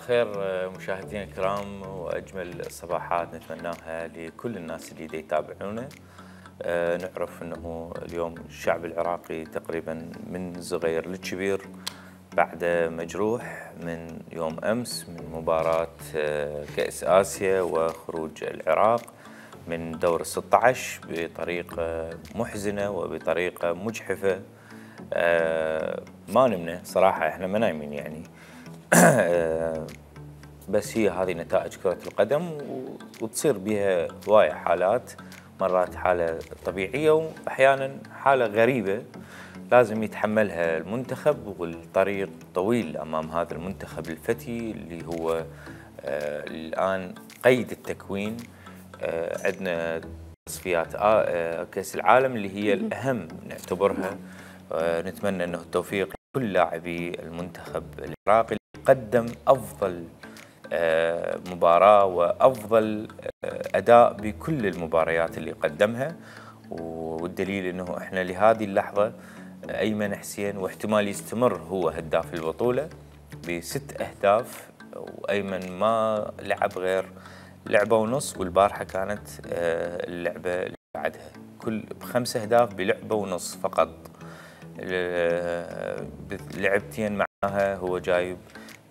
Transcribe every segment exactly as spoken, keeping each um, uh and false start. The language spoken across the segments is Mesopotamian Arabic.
الخير مشاهدينا الكرام، واجمل الصباحات نتمناها لكل الناس اللي دا يتابعونا. أه نعرف انه اليوم الشعب العراقي تقريبا من الصغير للكبير بعد مجروح من يوم امس من مباراة أه كأس اسيا وخروج العراق من دور الستة عشر بطريقة محزنة وبطريقة مجحفة. أه ما نمنا صراحة، احنا ما نايمين يعني. بس هي هذه نتائج كرة القدم وتصير بها هواية حالات، مرات حالة طبيعية وأحيانا حالة غريبة لازم يتحملها المنتخب، والطريق طويل أمام هذا المنتخب الفتي اللي هو آه الآن قيد التكوين. آه عندنا تصفيات آه كأس العالم اللي هي الأهم نعتبرها. آه نتمنى أنه التوفيق لكل لاعبي المنتخب العراقي قدم أفضل مباراة وأفضل أداء بكل المباريات اللي قدمها، والدليل أنه إحنا لهذه اللحظة أيمن حسين واحتمال يستمر هو هداف البطولة بست أهداف، وأيمن ما لعب غير لعبة ونص، والبارحة كانت اللعبة اللي بعدها كل بخمس أهداف بلعبة ونص فقط. لعبتين معها هو جايب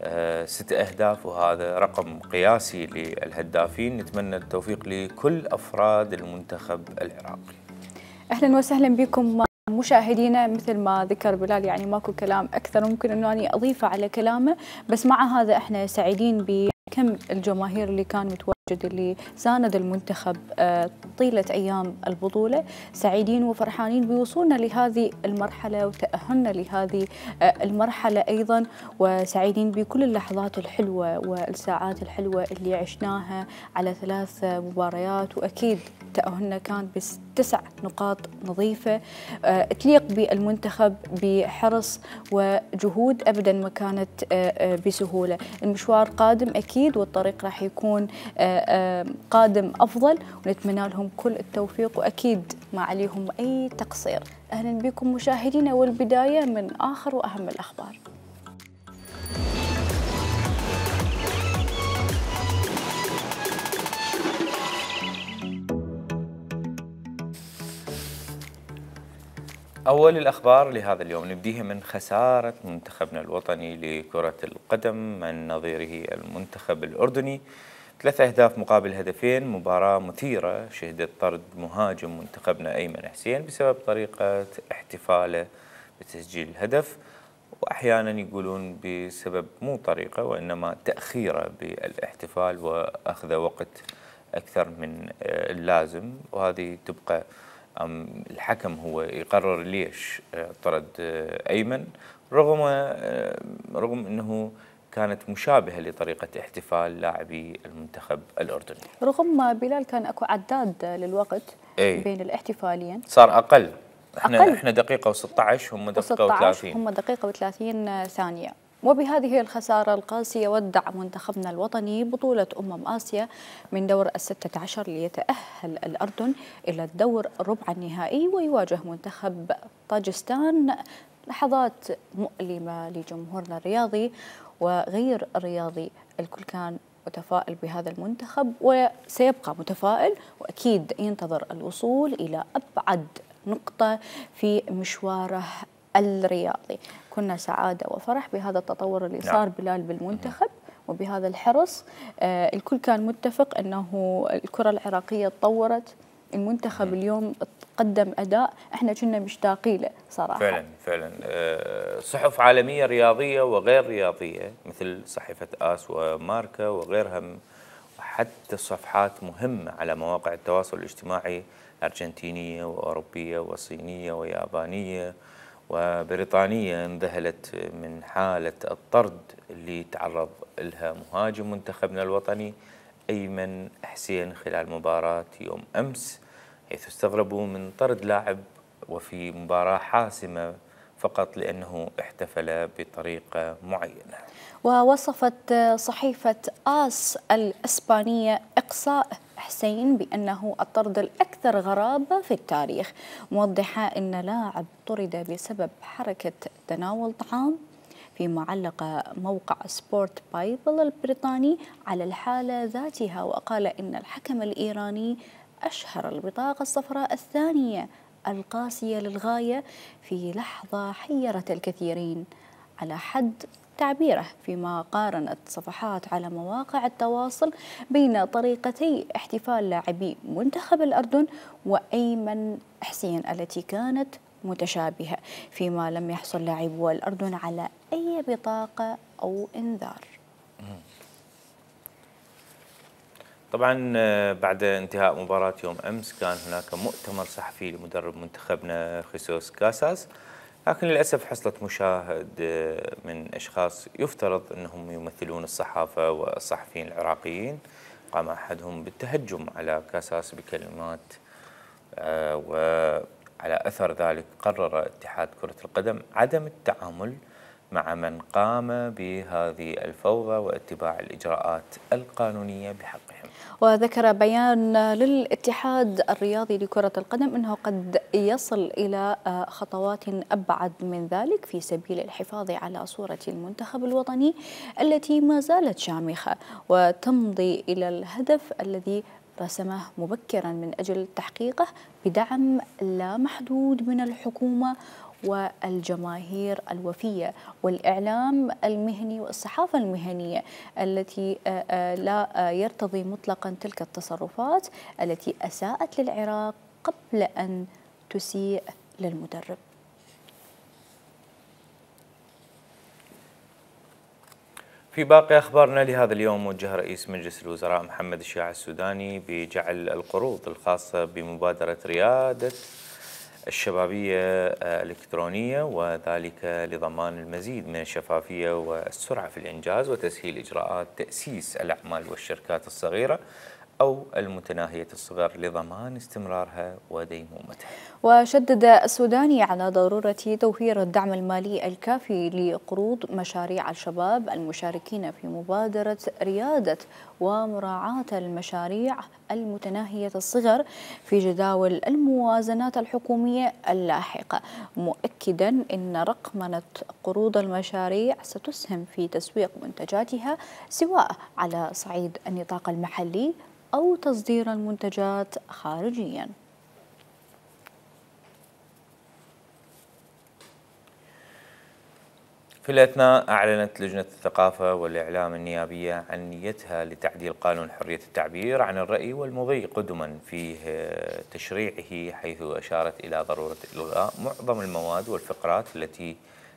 أه ست أهداف، وهذا رقم قياسي للهدافين. نتمنى التوفيق لكل أفراد المنتخب العراقي. أهلا وسهلا بكم مشاهدينا. مثل ما ذكر بلال يعني ماكو كلام أكثر ممكن أنه أنا أضيفه على كلامه، بس مع هذا إحنا سعيدين بكم الجماهير اللي كان متواجد اللي ساند المنتخب طيلة أيام البطولة. سعيدين وفرحانين بوصولنا لهذه المرحلة وتأهلنا لهذه المرحلة أيضا، وسعيدين بكل اللحظات الحلوة والساعات الحلوة اللي عشناها على ثلاث مباريات، وأكيد تأهلنا كان بس تسع نقاط نظيفة تليق بالمنتخب بحرص وجهود أبدا ما كانت بسهولة. المشوار قادم أكيد والطريق راح يكون قادم أفضل، ونتمنى لهم كل التوفيق وأكيد ما عليهم أي تقصير. أهلا بكم مشاهدينا، والبداية من آخر وأهم الأخبار. أول الأخبار لهذا اليوم نبديها من خسارة منتخبنا الوطني لكرة القدم من نظيره المنتخب الأردني، ثلاث أهداف مقابل هدفين. مباراة مثيرة شهدت طرد مهاجم منتخبنا أيمن حسين بسبب طريقة احتفاله بتسجيل الهدف، وأحيانا يقولون بسبب مو طريقة وإنما تأخيره بالاحتفال وأخذ وقت أكثر من اللازم، وهذه تبقى الحكم هو يقرر ليش طرد أيمن، رغم رغم أنه كانت مشابهة لطريقة احتفال لاعبي المنتخب الأردني. رغم ما بلال كان أكو عداد للوقت أي. بين الاحتفاليين صار أقل. احنا أقل. احنا دقيقة وستة عشر هم دقيقة وثلاثين. هم دقيقة وثلاثين ثانية. وبهذه الخسارة القاسية ودع منتخبنا الوطني بطولة أمم آسيا من دور الستة عشر ليتأهل الأردن إلى الدور ربع النهائي ويواجه منتخب طاجستان. لحظات مؤلمة لجمهورنا الرياضي وغير الرياضي، الكل كان متفائل بهذا المنتخب وسيبقى متفائل، وأكيد ينتظر الوصول إلى أبعد نقطة في مشواره الرياضي. كنا سعادة وفرح بهذا التطور اللي صار بلال بالمنتخب وبهذا الحرص. آه الكل كان متفق أنه الكرة العراقية تطورت، المنتخب اليوم قدم أداء احنا كنا مشتاقين له صراحة. فعلا فعلا. أه صحف عالمية رياضية وغير رياضية مثل صحيفة آس وماركا وغيرها، وحتى صفحات مهمة على مواقع التواصل الاجتماعي أرجنتينية وأوروبية وصينية ويابانية وبريطانية انذهلت من حالة الطرد اللي تعرض لها مهاجم منتخبنا الوطني أيمن حسين خلال مباراة يوم أمس، حيث استغربوا من طرد لاعب وفي مباراة حاسمة فقط لأنه احتفل بطريقة معينة. ووصفت صحيفة آس الإسبانية إقصاء حسين بأنه الطرد الأكثر غرابة في التاريخ، موضحة أن لاعب طرد بسبب حركة تناول طعام فيما علق موقع سبورت بايبل البريطاني على الحالة ذاتها، وقال إن الحكم الإيراني أشهر البطاقة الصفراء الثانية القاسية للغاية في لحظة حيرت الكثيرين على حد تعبيره، فيما قارنت صفحات على مواقع التواصل بين طريقتي احتفال لاعبي منتخب الأردن وأيمن حسين التي كانت متشابهة، فيما لم يحصل لاعبو الأردن على أي بطاقة أو إنذار. طبعا بعد انتهاء مباراة يوم أمس كان هناك مؤتمر صحفي لمدرب منتخبنا خيسوس كاساس، لكن للأسف حصلت مشاهد من أشخاص يفترض أنهم يمثلون الصحافة والصحفيين العراقيين، قام أحدهم بالتهجم على كاساس بكلمات، وعلى أثر ذلك قرر اتحاد كرة القدم عدم التعامل مع من قام بهذه الفوضى واتباع الإجراءات القانونية بحقهم. وذكر بيان للاتحاد الرياضي لكرة القدم أنه قد يصل إلى خطوات أبعد من ذلك في سبيل الحفاظ على صورة المنتخب الوطني التي ما زالت شامخة، وتمضي إلى الهدف الذي رسمه مبكرا من أجل تحقيقه بدعم لا محدود من الحكومة والجماهير الوفية والإعلام المهني والصحافة المهنية التي لا يرتضي مطلقا تلك التصرفات التي أساءت للعراق قبل أن تسيء للمدرب. في باقي أخبارنا لهذا اليوم، وجه رئيس مجلس الوزراء محمد الشياع السوداني بجعل القروض الخاصة بمبادرة ريادة الشبابية الإلكترونية، وذلك لضمان المزيد من الشفافية والسرعة في الإنجاز وتسهيل إجراءات تأسيس الأعمال والشركات الصغيرة أو المتناهية الصغر لضمان استمرارها وديمومتها. وشدد السوداني على ضرورة توفير الدعم المالي الكافي لقروض مشاريع الشباب المشاركين في مبادرة ريادة ومراعاة المشاريع المتناهية الصغر في جداول الموازنات الحكومية اللاحقة، مؤكدا أن رقمنة قروض المشاريع ستسهم في تسويق منتجاتها سواء على صعيد النطاق المحلي أو تصدير المنتجات خارجيا. في الأثناء أعلنت لجنة الثقافة والإعلام النيابية عن نيتها لتعديل قانون حرية التعبير عن الرأي والمضي قدما في تشريعه، حيث أشارت إلى ضرورة إلغاء معظم المواد والفقرات التي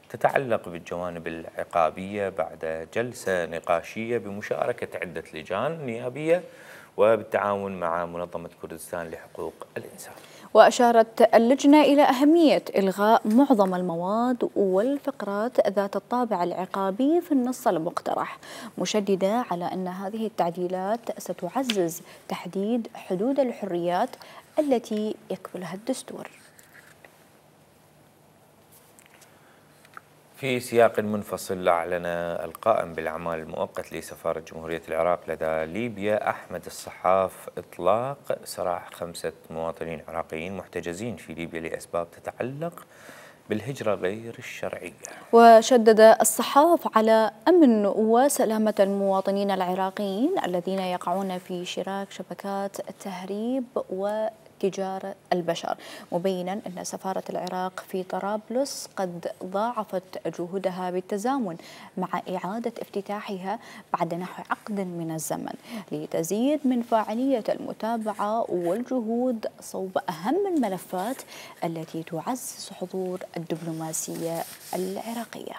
تتعلق بالجوانب العقابية بعد جلسة نقاشية بمشاركة عدة لجان نيابية وبالتعاون مع منظمة كردستان لحقوق الإنسان. وأشارت اللجنة إلى أهمية إلغاء معظم المواد والفقرات ذات الطابع العقابي في النص المقترح، مشددة على أن هذه التعديلات ستعزز تحديد حدود الحريات التي يكفلها الدستور. في سياق منفصل، أعلن القائم بالأعمال المؤقت لسفارة جمهورية العراق لدى ليبيا أحمد الصحاف إطلاق سراح خمسة مواطنين عراقيين محتجزين في ليبيا لأسباب تتعلق بالهجرة غير الشرعية. وشدد الصحاف على أمن وسلامة المواطنين العراقيين الذين يقعون في شراك شبكات تهريب و تجارة البشر، مبينا أن سفارة العراق في طرابلس قد ضاعفت جهودها بالتزامن مع إعادة افتتاحها بعد نحو عقد من الزمن لتزيد من فاعلية المتابعة والجهود صوب أهم الملفات التي تعزز حضور الدبلوماسية العراقية.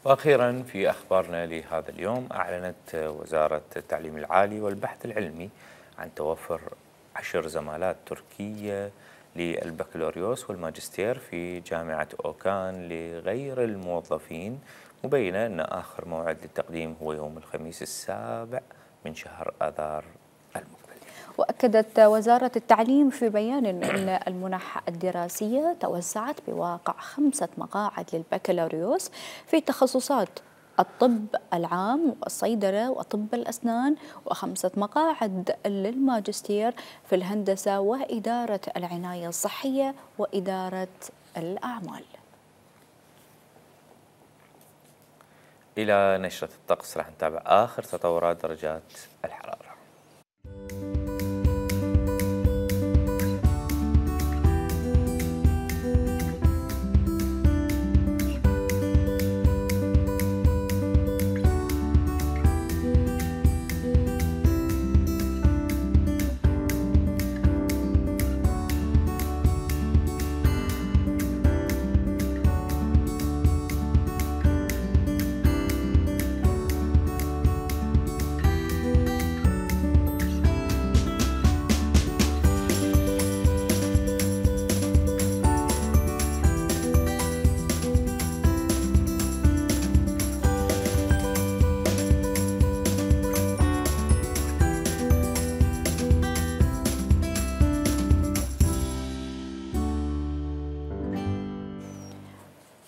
وأخيرا في أخبارنا لهذا اليوم، أعلنت وزارة التعليم العالي والبحث العلمي عن توفر عشر زمالات تركية للبكالوريوس والماجستير في جامعة أوكان لغير الموظفين، مبينة أن آخر موعد للتقديم هو يوم الخميس السابع من شهر آذار المقبل. وأكدت وزارة التعليم في بيان أن المنح الدراسية توسعت بواقع خمسة مقاعد للبكالوريوس في تخصصات الطب العام والصيدلة وطب الأسنان، وخمسة مقاعد للماجستير في الهندسة وإدارة العناية الصحية وإدارة الأعمال. إلى نشرة الطقس راح نتابع آخر تطورات درجات الحرارة.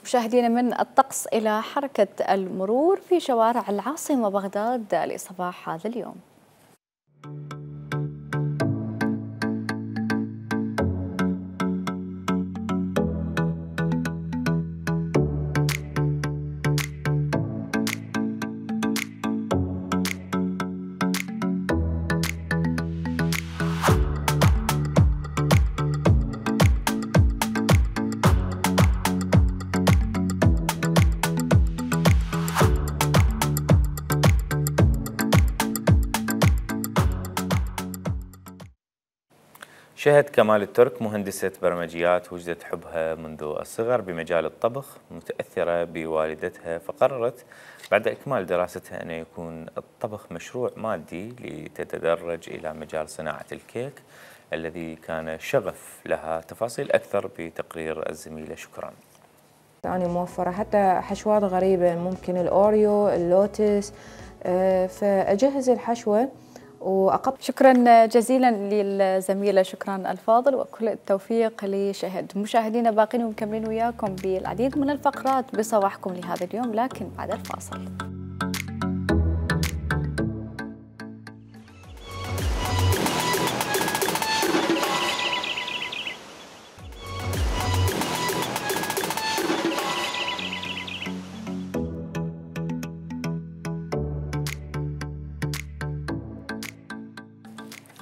مشاهدينا من الطقس إلى حركة المرور في شوارع العاصمة بغداد لصباح هذا اليوم. شهد كمال الترك مهندسة برمجيات وجدت حبها منذ الصغر بمجال الطبخ، متأثرة بوالدتها، فقررت بعد إكمال دراستها أن يكون الطبخ مشروع مادي لتتدرج إلى مجال صناعة الكيك الذي كان شغف لها. تفاصيل أكثر بتقرير الزميلة شكرا. أنا موفرة حتى حشوات غريبة، ممكن الأوريو، اللوتس، فأجهز الحشوة وأقط. شكرا جزيلا للزميلة شكرا الفاضل، وكل التوفيق لشهد. مشاهدينا باقين ومكملين وياكم بالعديد من الفقرات بصباحكم لهذا اليوم، لكن بعد الفاصل.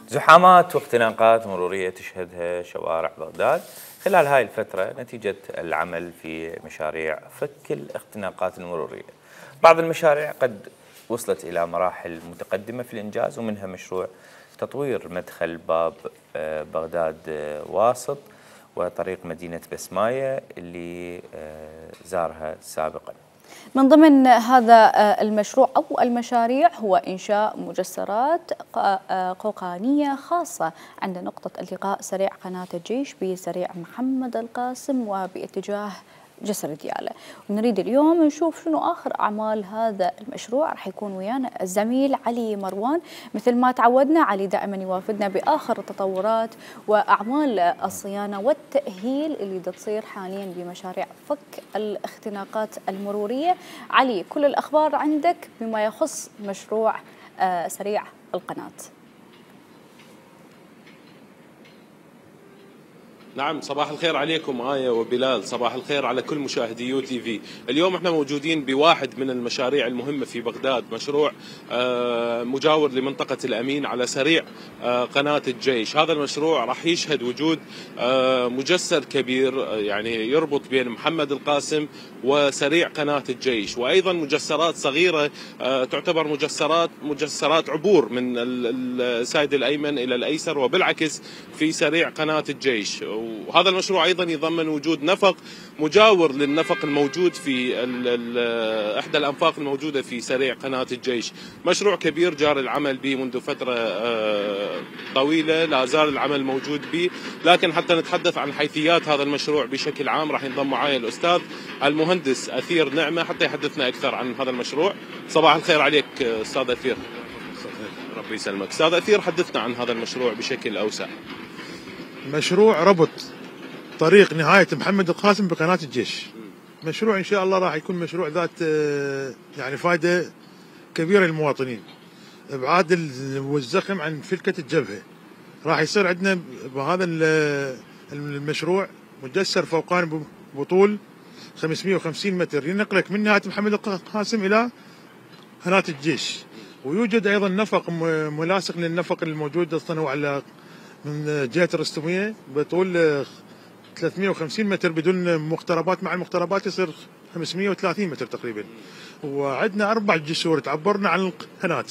زحامات واختناقات مرورية تشهدها شوارع بغداد خلال هاي الفترة نتيجة العمل في مشاريع فك الاختناقات المرورية. بعض المشاريع قد وصلت إلى مراحل متقدمة في الإنجاز، ومنها مشروع تطوير مدخل باب بغداد واسط وطريق مدينة بسماية اللي زارها سابقاً. من ضمن هذا المشروع أو المشاريع هو إنشاء مجسرات قوقانية خاصة عند نقطة التقاء سريع قناة الجيش بسريع محمد القاسم وباتجاه جسر ديالى. ونريد اليوم نشوف شنو آخر أعمال هذا المشروع. راح يكون ويانا الزميل علي مروان. مثل ما تعودنا علي دائما يوافدنا بآخر التطورات وأعمال الصيانة والتأهيل اللي تصير حاليا بمشاريع فك الاختناقات المرورية. علي، كل الأخبار عندك بما يخص مشروع سريع القناة. نعم، صباح الخير عليكم آية وبلال، صباح الخير على كل مشاهدي يو تي في. اليوم احنا موجودين بواحد من المشاريع المهمة في بغداد، مشروع مجاور لمنطقة الأمين على سريع قناة الجيش. هذا المشروع راح يشهد وجود مجسر كبير يعني يربط بين محمد القاسم وسريع قناة الجيش، وأيضا مجسرات صغيرة تعتبر مجسرات مجسرات عبور من السايد الأيمن إلى الأيسر وبالعكس في سريع قناة الجيش. وهذا المشروع أيضا يضمن وجود نفق مجاور للنفق الموجود في إحدى الأنفاق الموجودة في سريع قناة الجيش. مشروع كبير جار العمل به منذ فترة طويلة، لا زال العمل موجود به، لكن حتى نتحدث عن حيثيات هذا المشروع بشكل عام راح ينضم معي الأستاذ المهندس أثير نعمة حتى يحدثنا أكثر عن هذا المشروع. صباح الخير عليك أستاذ أثير. ربي يسلمك. أستاذ أثير، حدثنا عن هذا المشروع بشكل أوسع. مشروع ربط طريق نهاية محمد القاسم بقناة الجيش. مشروع إن شاء الله راح يكون مشروع ذات يعني فائدة كبيرة للمواطنين. إبعاد والزخم عن فلكة الجبهة. راح يصير عندنا بهذا المشروع مجسر فوقاني بطول خمسمئة وخمسين متر ينقلك من نهايه محمد القاسم الى قناه الجيش. ويوجد ايضا نفق ملاصق للنفق الموجود اصلا على من جهه الرستميه بطول ثلاثمئة وخمسين متر بدون مقتربات، مع المقتربات يصير خمسمئة وثلاثين متر تقريبا. وعندنا اربع جسور تعبرنا عن القناه،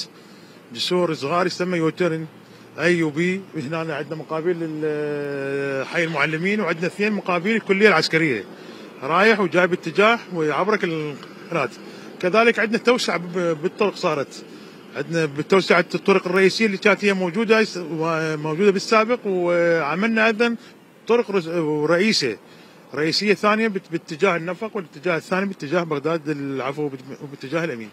جسور صغار يسمى يوترن اي وبي. هنا عندنا مقابل حي المعلمين، وعندنا اثنين مقابل الكليه العسكريه رايح وجاي باتجاه ويعبرك القناه. كذلك عندنا توسعه بالطرق صارت، عندنا بتوسعه الطرق الرئيسيه اللي كانت هي موجوده موجوده بالسابق، وعملنا ايضا طرق رئيسيه رئيسيه ثانيه باتجاه النفق، والاتجاه الثاني باتجاه بغداد العفو وباتجاه الامين.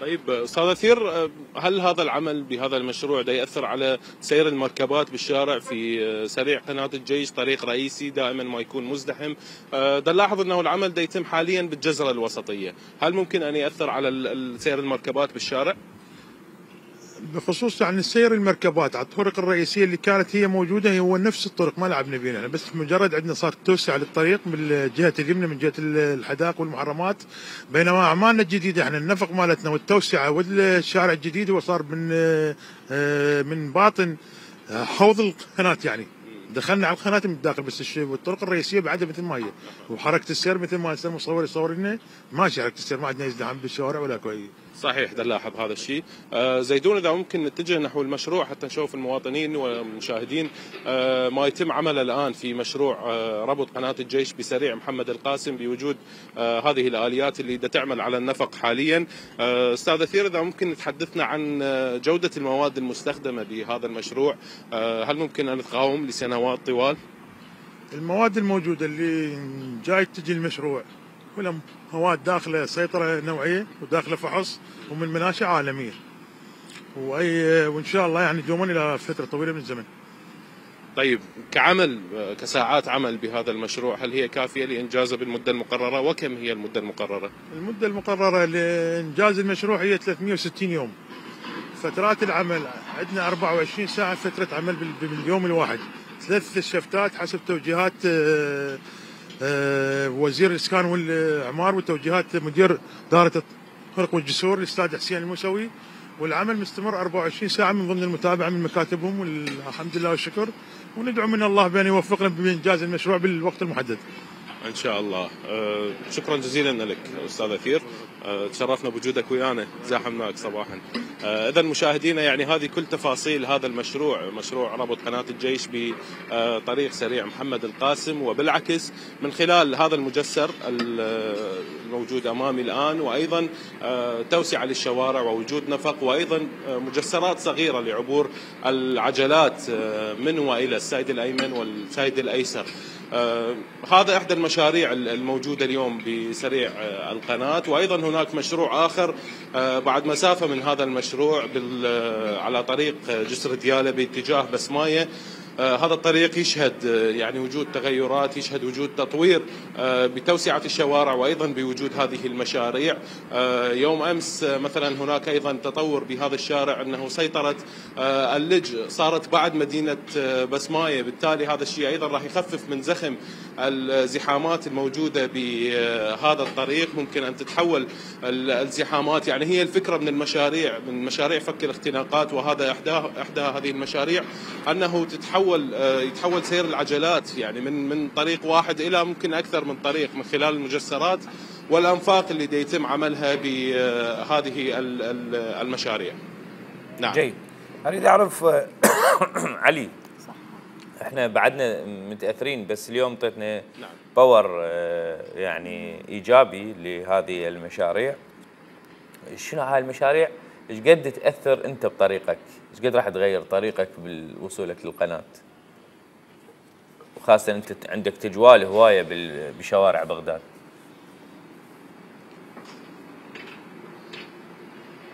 طيب استاذ اثير، هل هذا العمل بهذا المشروع ده ياثر على سير المركبات بالشارع في سريع قناه الجيش، طريق رئيسي دائما ما يكون مزدحم؟ ده نلاحظ انه العمل ده يتم حاليا بالجزره الوسطيه، هل ممكن ان ياثر على سير المركبات بالشارع؟ بخصوص يعني سير المركبات على الطرق الرئيسيه اللي كانت هي موجوده هو نفس الطرق، ما لعبنا بينها، بس مجرد عندنا صار توسع للطريق من جهه اليمنى من جهه الحدائق والمحرمات. بينما اعمالنا الجديده احنا النفق مالتنا والتوسعه والشارع الجديد هو صار من من باطن حوض القناه، يعني دخلنا على القناه من الداخل، بس والطرق الرئيسيه بعدها مثل ما هي، وحركه السير مثل ما المصور يصور لنا ماشي حركه السير، ما عندنا ازدحام بالشوارع ولا كويس. صحيح، ده نلاحظ هذا الشيء. آه زيدون، اذا ممكن نتجه نحو المشروع حتى نشوف المواطنين والمشاهدين آه ما يتم عمله الان في مشروع آه ربط قناه الجيش بسريع محمد القاسم بوجود آه هذه الاليات اللي دا تعمل على النفق حاليا. آه استاذ اثير، اذا ممكن تحدثنا عن جوده المواد المستخدمه بهذا المشروع، آه هل ممكن ان تقاوم لسنوات طوال؟ المواد الموجوده اللي جاي تجي المشروع كلها مواد داخله سيطره نوعيه وداخله فحص ومن مناشئ عالميه، واي وان شاء الله يعني دوما الى فتره طويله من الزمن. طيب كعمل كساعات عمل بهذا المشروع، هل هي كافيه لانجازه بالمده المقرره؟ وكم هي المده المقرره؟ المده المقرره لانجاز المشروع هي ثلاثمئة وستين يوم. فترات العمل عندنا أربعة وعشرين ساعه فتره عمل باليوم الواحد، ثلاث شفتات حسب توجيهات وزير الاسكان والاعمار وتوجيهات مدير دائره الطرق والجسور الاستاذ حسين الموسوي. والعمل مستمر أربعة وعشرين ساعه من ضمن المتابعه من مكاتبهم، والحمد لله والشكر، وندعو من الله بان يوفقنا بانجاز المشروع بالوقت المحدد ان شاء الله. أه شكرا جزيلا لك استاذ اثير، أه تشرفنا بوجودك ويانا، زاحمناك صباحا. أه اذا مشاهدينا، يعني هذه كل تفاصيل هذا المشروع، مشروع ربط قناه الجيش بطريق سريع محمد القاسم، وبالعكس من خلال هذا المجسر الموجود امامي الان، وايضا أه توسعه للشوارع ووجود نفق، وايضا مجسرات صغيره لعبور العجلات من والى السيد الايمن والسيد الايسر. آه هذا احدى المشاريع الموجوده اليوم بسريع آه القناه، وايضا هناك مشروع اخر آه بعد مسافه من هذا المشروع على طريق جسر دياله باتجاه بسمايه. آه هذا الطريق يشهد آه يعني وجود تغيرات، يشهد وجود تطوير آه بتوسعة الشوارع، وأيضا بوجود هذه المشاريع. آه يوم أمس آه مثلا هناك أيضا تطور بهذا الشارع، أنه سيطرت آه اللج صارت بعد مدينة آه بسماية، بالتالي هذا الشيء أيضا راح يخفف من زخم الزحامات الموجودة بهذا الطريق. ممكن أن تتحول الزحامات، يعني هي الفكرة من المشاريع من مشاريع فك الاختناقات، وهذا إحدى إحدى هذه المشاريع، أنه تتحول يتحول سير العجلات يعني من من طريق واحد الى ممكن اكثر من طريق، من خلال المجسرات والانفاق اللي دي يتم عملها بهذه المشاريع. نعم. جيد. اريد اعرف علي، احنا بعدنا متاثرين، بس اليوم طيتنا نعم. باور يعني ايجابي لهذه المشاريع. شنو هاي المشاريع؟ ايش قد تاثر انت بطريقك؟ ايش قد راح تغير طريقك بوصولك للقناه؟ وخاصه انت عندك تجوال هوايه بشوارع بغداد.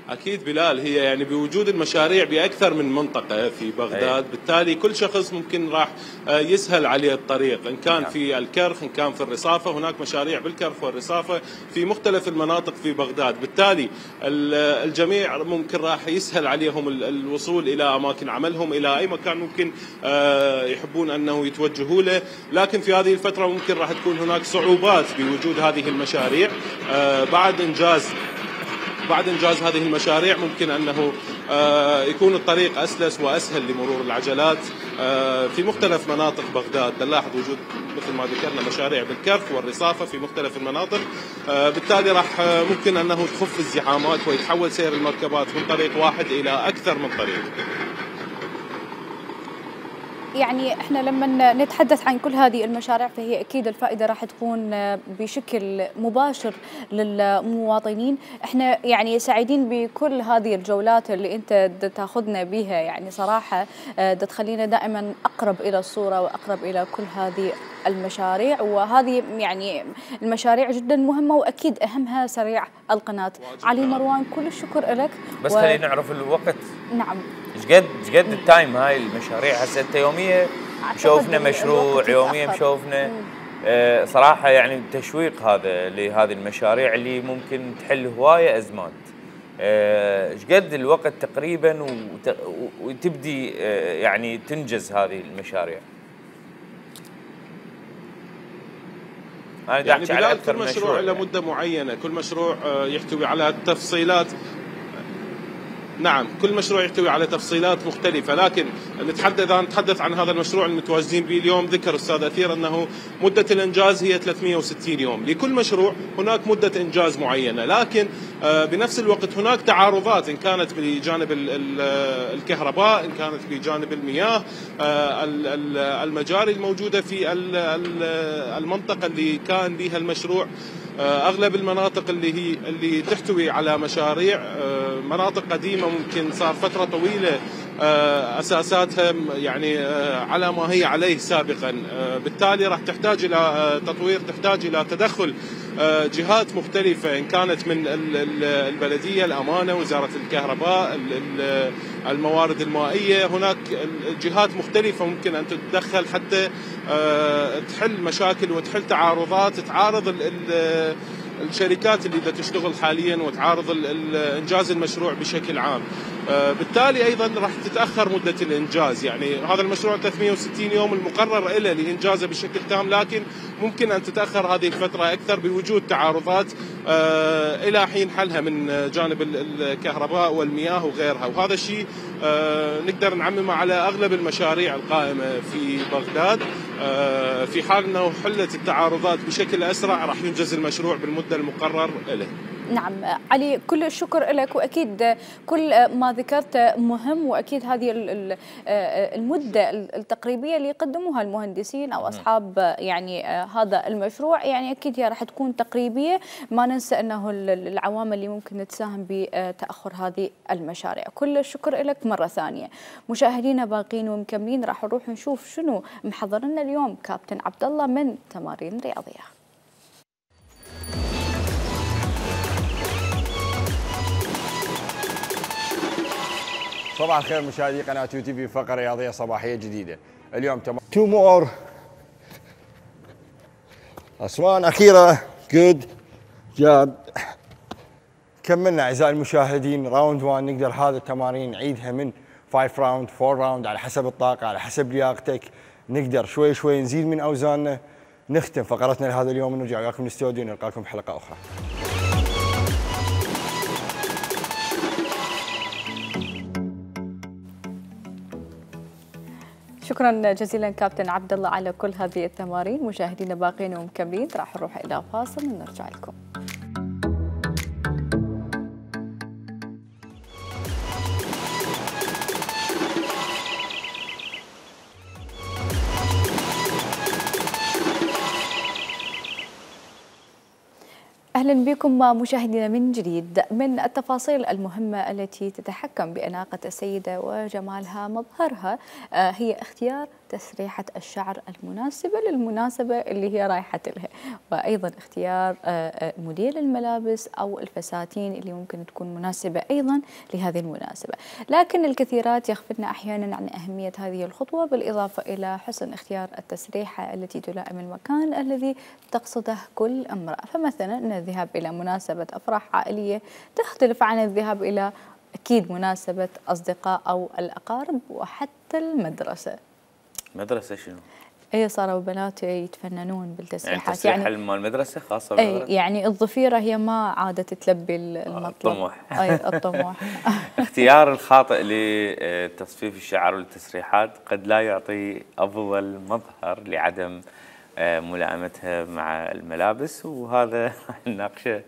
أكيد بلال، هي يعني بوجود المشاريع بأكثر من منطقة في بغداد، بالتالي كل شخص ممكن راح يسهل عليه الطريق، إن كان في الكرخ إن كان في الرصافة. هناك مشاريع بالكرخ والرصافة في مختلف المناطق في بغداد، بالتالي الجميع ممكن راح يسهل عليهم الوصول إلى أماكن عملهم، إلى أي مكان ممكن يحبون أنه يتوجهوا له. لكن في هذه الفترة ممكن راح تكون هناك صعوبات بوجود هذه المشاريع. بعد إنجاز بعد إنجاز هذه المشاريع ممكن أنه يكون الطريق أسلس وأسهل لمرور العجلات في مختلف مناطق بغداد. نلاحظ وجود مثل ما ذكرنا مشاريع بالكرخ والرصافة في مختلف المناطق، بالتالي راح ممكن أنه تخف الزحامات ويتحول سير المركبات من طريق واحد إلى أكثر من طريق. يعني احنا لما نتحدث عن كل هذه المشاريع فهي اكيد الفائده راح تكون بشكل مباشر للمواطنين. احنا يعني سعيدين بكل هذه الجولات اللي انت تاخذنا بها، يعني صراحه تخلينا دائما اقرب الى الصوره واقرب الى كل هذه المشاريع، وهذه يعني المشاريع جدا مهمه واكيد اهمها سريع القناه. علي مروان، كل الشكر لك. بس و... خلينا نعرف الوقت. نعم. ايش قد ايش قد التايم هاي المشاريع؟ هسه انت يوميا مشوفنا مشروع، يوميا مشوفنا آه صراحه يعني تشويق هذا لهذه المشاريع اللي ممكن تحل هوايه ازمات. ايش آه قد الوقت تقريبا وت... وتبدي آه يعني تنجز هذه المشاريع؟ أنا يعني على كل مشروع, مشروع له مده معينه، كل مشروع يحتوي على تفصيلات. نعم، كل مشروع يحتوي على تفصيلات مختلفة، لكن نتحدث عن نتحدث عن هذا المشروع المتواجدين به اليوم. ذكر أستاذ أثير أنه مدة الإنجاز هي ثلاثمئة وستين يوم. لكل مشروع هناك مدة إنجاز معينة، لكن بنفس الوقت هناك تعارضات، إن كانت بجانب الكهرباء، إن كانت بجانب المياه، المجاري الموجودة في المنطقة اللي كان بها المشروع. أغلب المناطق اللي هي اللي تحتوي على مشاريع مناطق قديمة، ممكن صار فترة طويلة أساساتها يعني على ما هي عليه سابقا، بالتالي راح تحتاج إلى تطوير، تحتاج إلى تدخل جهات مختلفة، إن كانت من البلدية، الأمانة، وزارة الكهرباء، الموارد المائية. هناك جهات مختلفة ممكن أن تتدخل حتى تحل مشاكل وتحل تعارضات تعارض الشركات اللي تشتغل حاليا وتعارض إنجاز المشروع بشكل عام. بالتالي أيضا راح تتأخر مدة الإنجاز. يعني هذا المشروع ثلاثمئة وستين يوم المقرر له لإنجازه بشكل تام، لكن ممكن أن تتأخر هذه الفترة أكثر بوجود تعارضات إلى حين حلها من جانب الكهرباء والمياه وغيرها. وهذا الشيء نقدر نعممه على أغلب المشاريع القائمة في بغداد. في حال أنه حلت التعارضات بشكل أسرع راح ينجز المشروع بالمدة المقرر له. نعم علي، كل الشكر لك، وأكيد كل ما ذكرت مهم، وأكيد هذه المدة التقريبية اللي يقدموها المهندسين أو أصحاب يعني هذا المشروع يعني أكيد هي راح تكون تقريبية. ما ننسى أنه العوامل اللي ممكن تساهم بتأخر هذه المشاريع. كل الشكر لك مرة ثانية. مشاهدينا باقين ومكملين، راح نروح نشوف شنو محضر لنا اليوم كابتن عبد الله من تمارين رياضية. صباح الخير مشاهدي قناة يو تي في، فقرة رياضية صباحية جديدة. اليوم تم تو مور أسوان أخيرة. جود جاب. كملنا أعزائي المشاهدين راوند واحد. نقدر هذا التمارين نعيدها من خمسة راوند، أربعة راوند، على حسب الطاقة، على حسب لياقتك. نقدر شوي شوي نزيد من أوزاننا. نختم فقرتنا لهذا اليوم ونرجع وياكم الاستوديو، نلقاكم بحلقة أخرى. شكرا جزيلا كابتن عبد الله على كل هذه التمارين. مشاهدينا باقين ومكملين، راح نروح الى فاصل ونرجع لكم. أهلا بكم مشاهدينا من جديد. من التفاصيل المهمة التي تتحكم بأناقة السيدة وجمالها مظهرها هي اختيار تسريحة الشعر المناسبة للمناسبة اللي هي رايحة لها، وأيضا اختيار موديل الملابس أو الفساتين اللي ممكن تكون مناسبة أيضا لهذه المناسبة. لكن الكثيرات يغفلن أحيانا عن أهمية هذه الخطوة، بالإضافة إلى حسن اختيار التسريحة التي تلائم المكان الذي تقصده كل امرأة. فمثلا أن الذهاب إلى مناسبة أفراح عائلية تختلف عن الذهاب إلى أكيد مناسبة أصدقاء أو الأقارب، وحتى المدرسة. مدرسة شنو؟ اي صاروا بنات يتفننون بالتسريحات، يعني يعني مال المدرسة خاصة بالمدرسة؟ اي يعني الضفيرة هي ما عادت تلبي المطلب. الطموح. اي الطموح. اختيار الخاطئ لتصفيف الشعر والتسريحات قد لا يعطي أفضل مظهر لعدم ملائمتها مع الملابس، وهذا نناقشه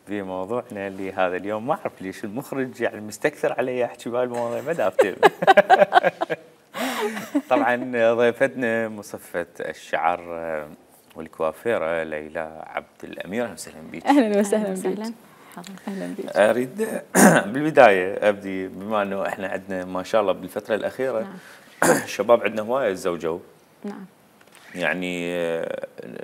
في موضوعنا لهذا اليوم. ما أعرف ليش المخرج يعني مستكثر علي أحكي بهالمواضيع ما دافتهم. طبعا ضيفتنا مصفة الشعر والكوافيرة ليلى عبد الأمير، أهلا وسهلا بك. أهلا وسهلا بك. أهلا بك. أريد بالبداية أبدي بما أنه إحنا عندنا ما شاء الله بالفترة الأخيرة نعم. الشباب عندنا هواية تزوجوا. نعم. يعني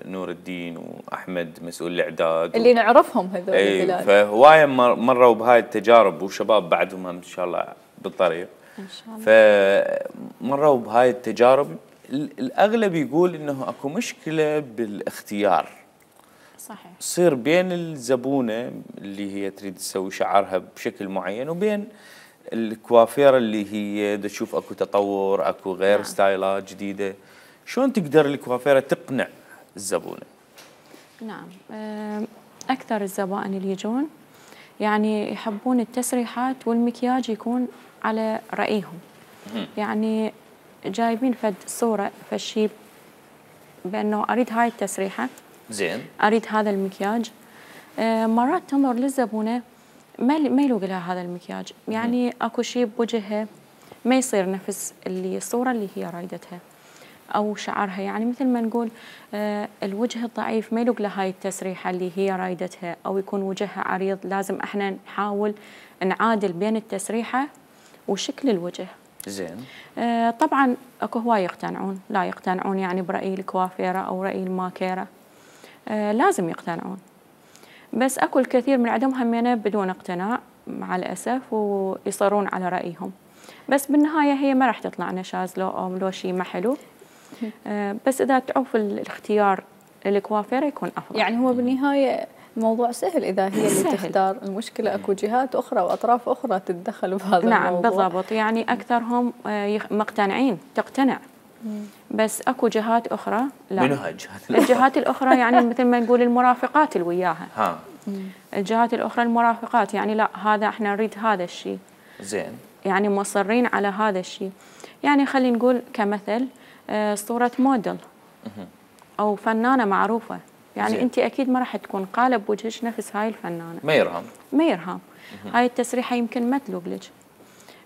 نور الدين وأحمد مسؤول الإعداد اللي و... نعرفهم هذول. أي فهواية مروا بهاي التجارب، وشباب بعدهم إن شاء الله بالطريق. إن شاء الله. فمروا بهاي التجارب. الأغلب يقول إنه أكو مشكلة بالاختيار. صحيح. تصير بين الزبونة اللي هي تريد تسوي شعرها بشكل معين وبين الكوافيرة اللي هي تشوف أكو تطور، أكو غير نعم. ستايلات جديدة. شلون تقدر الكوافيرة تقنع الزبونة؟ نعم، أكثر الزبائن اللي يجون يعني يحبون التسريحات والمكياج يكون على رأيهم. يعني جايبين فد صورة فشي بأنه أريد هاي التسريحة، زين، أريد هذا المكياج. مرات تنظر للزبونة ما ما يلوق لها هذا المكياج، يعني أكو شيء بوجهها ما يصير نفس اللي الصورة اللي هي رايدتها، أو شعرها يعني مثل ما نقول آه الوجه الضعيف ما يلوق لهاي التسريحة اللي هي رايدتها، أو يكون وجهها عريض. لازم احنا نحاول نعادل بين التسريحة وشكل الوجه. زين. آه طبعا اكو هواي يقتنعون، لا يقتنعون يعني برأي الكوافيرة أو رأي الماكيرة. آه لازم يقتنعون، بس اكو الكثير من عندهم همينة بدون اقتناع مع الأسف، ويصرون على رأيهم. بس بالنهاية هي ما راح تطلع نشاز لو أو لو شيء ما حلو. آه بس إذا تعوف الاختيار الكوافيرة يكون أفضل. يعني هو بالنهاية الموضوع سهل إذا هي اللي سهل. تختار. المشكلة أكو جهات أخرى وأطراف أخرى تتدخل بهذا نعم الموضوع. نعم بالضبط، يعني أكثرهم آه مقتنعين تقتنع. مم. بس أكو جهات أخرى لا. منو هاي الجهات؟ الجهات الأخرى يعني مثل ما نقول المرافقات اللي وياها. ها. الجهات الأخرى المرافقات يعني لا هذا احنا نريد هذا الشيء. زين. يعني مصرين على هذا الشيء. يعني خلينا نقول كمثل آه صورة موديل أو فنانة معروفة، يعني زين. أنت أكيد ما راح تكون قالب وجهك نفس هاي الفنانة. ما يرهم. ما يرهم. هاي التسريحة يمكن ما تلوق لك.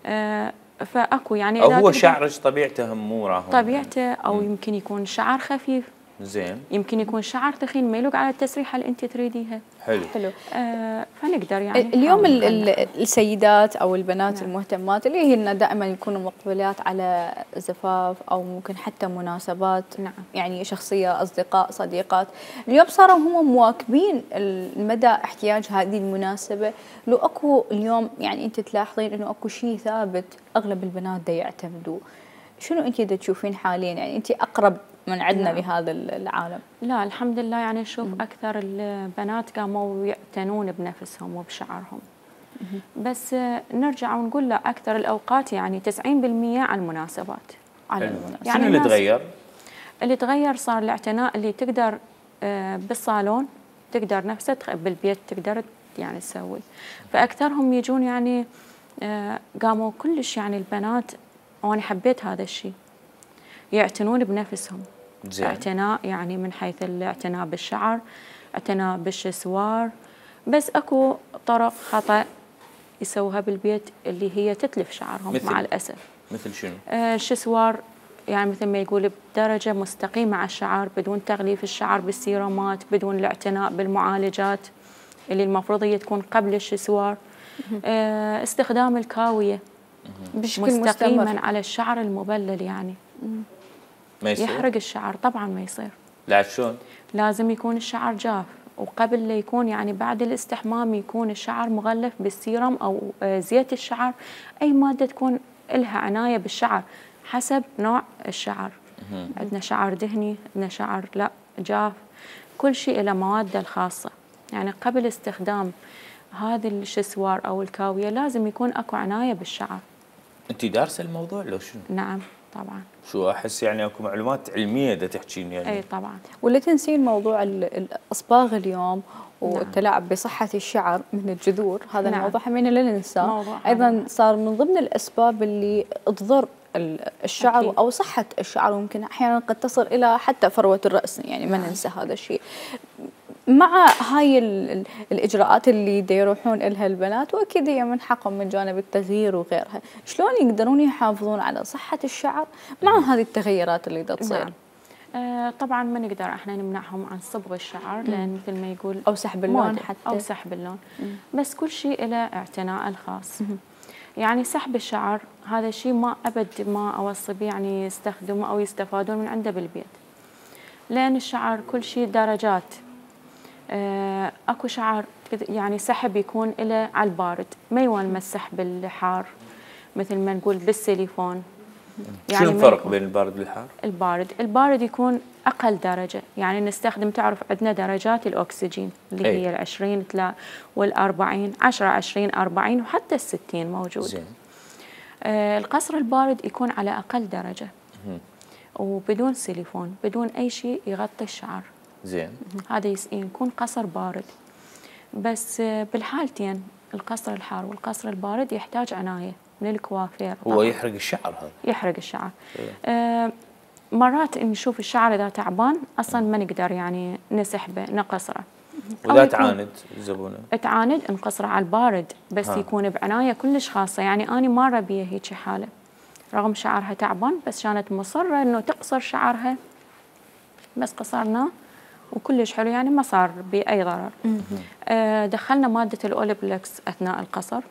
آه فأكو يعني أو هو شعرك طبيعته مو راهم. طبيعته أو مم. يمكن يكون شعر خفيف. زين. يمكن يكون شعر ثخين ما يلوق على التسريحة اللي أنت تريديها. حلو. حلو. آه فنقدر يعني اليوم ال ال السيدات أو البنات نعم. المهتمات اللي هي دائما يكونوا مقبلات على زفاف أو ممكن حتى مناسبات نعم. يعني شخصية، أصدقاء، صديقات، اليوم صاروا هم مواكبين المدى احتياج هذه المناسبة. لو أكو اليوم يعني أنت تلاحظين إنه أكو شيء ثابت أغلب البنات دا يعتمدوا، شنو أنت دا تشوفين حاليا؟ يعني أنت أقرب من عندنا لا. لهذا العالم. لا الحمد لله يعني نشوف أكثر البنات قاموا يعتنون بنفسهم وبشعرهم. مم. بس نرجع ونقول لا أكثر الأوقات يعني تسعين بالمئة على المناسبات. على المناسبات. يعني شنو اللي تغير؟ اللي تغير صار الاعتناء اللي تقدر بالصالون تقدر نفسها بالبيت تقدر يعني تسوي. فأكثرهم يجون يعني قاموا كلش يعني البنات، وأنا حبيت هذا الشيء، يعتنون بنفسهم. زين. اعتناء يعني من حيث الاعتناء بالشعر، اعتناء بالشسوار. بس اكو طرق خطأ يسووها بالبيت اللي هي تتلف شعرهم مع الأسف. مثل شنو؟ آه الشسوار يعني مثل ما يقول بدرجة مستقيمة على الشعر بدون تغليف الشعر بالسيرومات، بدون الاعتناء بالمعالجات اللي المفروض هي تكون قبل الشسوار. آه استخدام الكاوية بشكل مستقيما مستمر على الشعر المبلل يعني. ما يصير؟ يحرق الشعر طبعا ما يصير. لا شلون؟ لازم يكون الشعر جاف، وقبل لا يكون يعني بعد الاستحمام يكون الشعر مغلف بالسيرم او زيت الشعر، اي ماده تكون لها عنايه بالشعر حسب نوع الشعر. عندنا شعر دهني، عندنا شعر لا جاف، كل شيء له مواده الخاصه. يعني قبل استخدام هذه الشسوار او الكاويه لازم يكون اكو عنايه بالشعر. انت دارسه الموضوع لو شنو؟ نعم طبعا. شو احس يعني اكو معلومات علميه دا تحكين يعني. اي طبعا. ولا تنسين موضوع الاصباغ اليوم والتلاعب بصحة الشعر من الجذور، هذا نعم. الموضوع همين لا ننساه. أيضا صار من ضمن الأسباب اللي تضر الشعر أكيد. أو صحة الشعر، وممكن أحيانا قد تصل إلى حتى فروة الرأس، يعني ما ننسى هذا الشيء. مع هاي الإجراءات اللي دا يروحون إلها البنات، وأكيد هي من حقهم من جانب التغيير وغيرها، شلون يقدرون يحافظون على صحة الشعر مع هذه التغيرات اللي دا تصير؟ نعم. آه طبعا ما نقدر احنا نمنعهم عن صبغ الشعر، لان مثل ما يقول او سحب اللون حتى او سحب اللون، مم. بس كل شيء له اعتناء الخاص. مم. يعني سحب الشعر هذا شيء ما ابد ما اوصي به يعني يستخدموا او يستفادون من عنده بالبيت، لان الشعر كل شيء درجات. آه اكو شعر يعني سحب يكون له على البارد، ما يونمس سحب الحار مثل ما نقول بالسيليفون. يعني شو الفرق بين البارد والحار؟ البارد، البارد يكون أقل درجة، يعني نستخدم تعرف عندنا درجات الأكسجين اللي أي. هي العشرين والأربعين، عشرة عشرين أربعين وحتى الستين موجود. زين. آه القصر البارد يكون على أقل درجة. مم. وبدون سيليفون، بدون أي شيء يغطي الشعر. زين. هذا يكون قصر بارد. بس آه بالحالتين القصر الحار والقصر البارد يحتاج عناية من الكوافير. هو يحرق الشعر هذا؟ يحرق الشعر. آه مرات نشوف الشعر اذا تعبان اصلا ما نقدر يعني نسحبه نقصره. واذا تعاند الزبونه؟ تعاند نقصره على البارد، بس ها. يكون بعنايه كلش خاصه. يعني انا مره بيها هيك حاله، رغم شعرها تعبان بس كانت مصره انه تقصر شعرها، بس قصرناه وكلش حلو يعني ما صار باي ضرر. آه دخلنا ماده الاوليبلكس اثناء القصر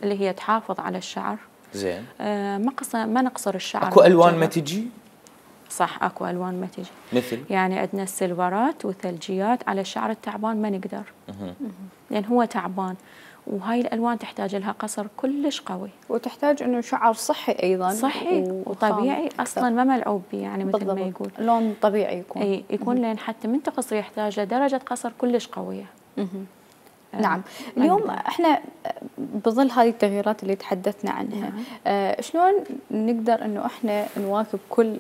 اللي هي تحافظ على الشعر. زين. آه ما قصر ما نقصر الشعر. اكو الوان ما تجي؟ صح اكو الوان ما تجي. مثل؟ يعني عندنا السيلفرات والثلجيات على الشعر التعبان ما نقدر. لان هو تعبان، وهاي الالوان تحتاج لها قصر كلش قوي. وتحتاج انه شعر صحي ايضا. صحي وطبيعي اصلا ما ملعوب به، يعني مثل بالضبط. ما يقول. لون طبيعي يكون. اي يكون لين حتى من تقصر يحتاج لدرجه قصر كلش قويه. نعم. اليوم احنا بظل هذه التغييرات اللي تحدثنا عنها، نعم. آه شلون نقدر انه احنا نواكب كل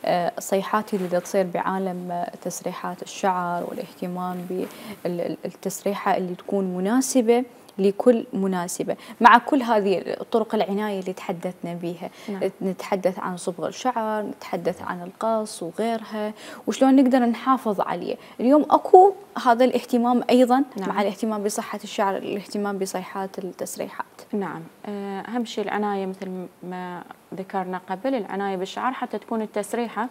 الصيحات اللي تصير بعالم تسريحات الشعر والاهتمام بالتسريحه اللي تكون مناسبه لكل مناسبة، مع كل هذه طرق العناية اللي تحدثنا بها. نعم. نتحدث عن صبغ الشعر، نتحدث عن القص وغيرها، وشلون نقدر نحافظ عليه. اليوم أكو هذا الاهتمام أيضا. نعم. مع الاهتمام بصحة الشعر، الاهتمام بصيحات التسريحات. نعم. أهم شيء العناية مثل ما ذكرنا قبل، العناية بالشعر حتى تكون التسريحة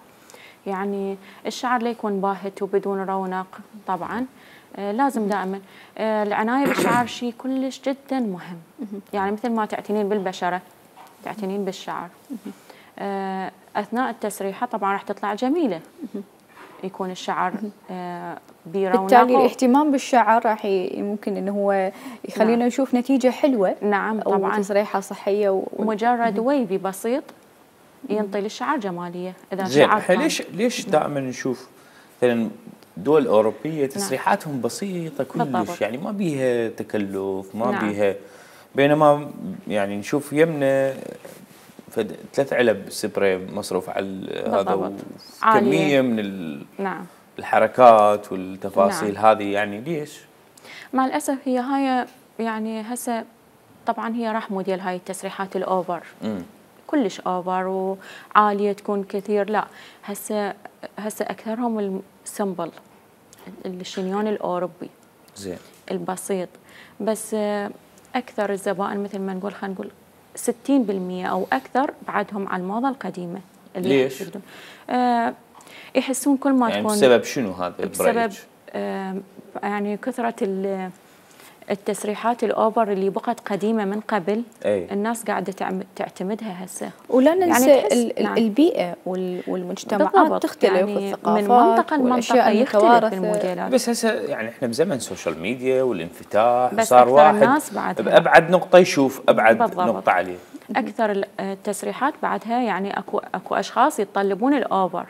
يعني الشعر لا يكون باهت وبدون رونق. طبعا آه لازم دائما آه العنايه بالشعر شيء كلش جدا مهم. يعني مثل ما تعتنين بالبشره تعتنين بالشعر. آه اثناء التسريحه طبعا راح تطلع جميله، يكون الشعر آه برونق. بالتالي الاهتمام بالشعر راح ممكن انه هو يخلينا نعم. نشوف نتيجه حلوه. نعم طبعا. وتسريحه صحيه و... مجرد ويفي بسيط ينطي للشعر جماليه. اذا زين ليش ليش دائما نشوف مثلا دول أوروبية تسريحاتهم نعم. بسيطة كلش بالضبط. يعني ما بيها تكلف، ما نعم. بيها، بينما يعني نشوف يمنا ثلاث علب سبراي مصروف على هذا وكمية من ال... نعم. الحركات والتفاصيل. نعم. هذه يعني ليش؟ مع الأسف هي هاي يعني هسه طبعا هي رحمة ديال هاي التسريحات الأوفر. م. كلش اوفر وعاليه تكون كثير. لا هسه هسه اكثرهم السمبل الشنيون الاوروبي. زين. البسيط. بس اكثر الزبائن مثل ما نقول خلينا نقول ستين بالمئة او اكثر بعدهم على الموضه القديمه. اللي ليش؟ آه يحسون كل ما يعني تكون بسبب شنو هذا؟ بسبب آه يعني كثره التسريحات الاوفر اللي بقت قديمه من قبل أي. الناس قاعده تعتمدها هسه. ولا ننسى يعني ال نعم. البيئه والمجتمعات تختلف، يعني والثقافات من منطقه لمنطقه يختلف الموديلات. بس هسه يعني احنا بزمن السوشيال ميديا والانفتاح، بس صار واحد الناس بعدها بابعد نقطه يشوف ابعد بالضبط. نقطه عليه. اكثر التسريحات بعدها يعني اكو اكو اشخاص يتطلبون الاوفر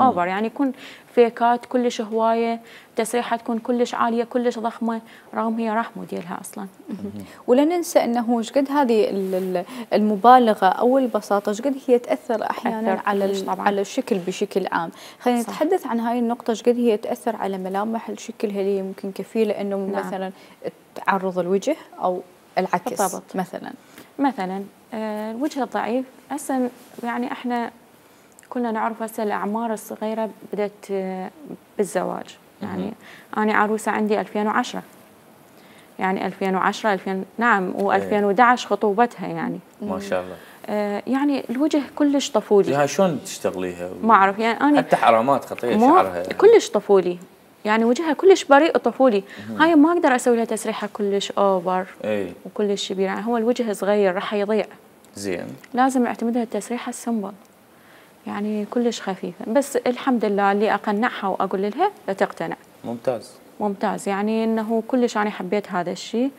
اوفر، يعني يكون فيكات كلش هوايه، تسريحه تكون كلش عاليه كلش ضخمه رغم هي راح موديلها اصلا. ولا ننسى انه ايش قد هذه المبالغه او البساطه ايش قد هي تاثر احيانا على على الشكل بشكل عام. خلينا نتحدث عن هاي النقطه، ايش قد هي تاثر على ملامح الشكل، هل هي ممكن كفيله انه نعم. مثلا تعرض الوجه او العكس بالضبط. مثلا مثلا آه الوجه الضعيف هسه يعني احنا كلنا نعرف هسه الاعمار الصغيره بدات بالزواج، يعني انا عروسه عندي ألفين وعشرة، يعني ألفين وعشرة ألفين نعم وألفين وأحد عشر خطوبتها يعني ما شاء الله. آه يعني الوجه كلش طفولي. هاي شلون تشتغليها؟ ما اعرف يعني انا حتى حرامات خطيه شعرها كلش طفولي، يعني وجهها كلش بريء وطفولي. هاي ما اقدر اسوي لها تسريحه كلش اوفر اي وكلش كبير، يعني هو الوجه صغير راح يضيع. زين لازم اعتمدها التسريحه السمبل، يعني كلش خفيفه، بس الحمد لله اللي اقنعها واقول لها تقتنع. ممتاز ممتاز، يعني انه كلش انا حبيت هذا الشيء،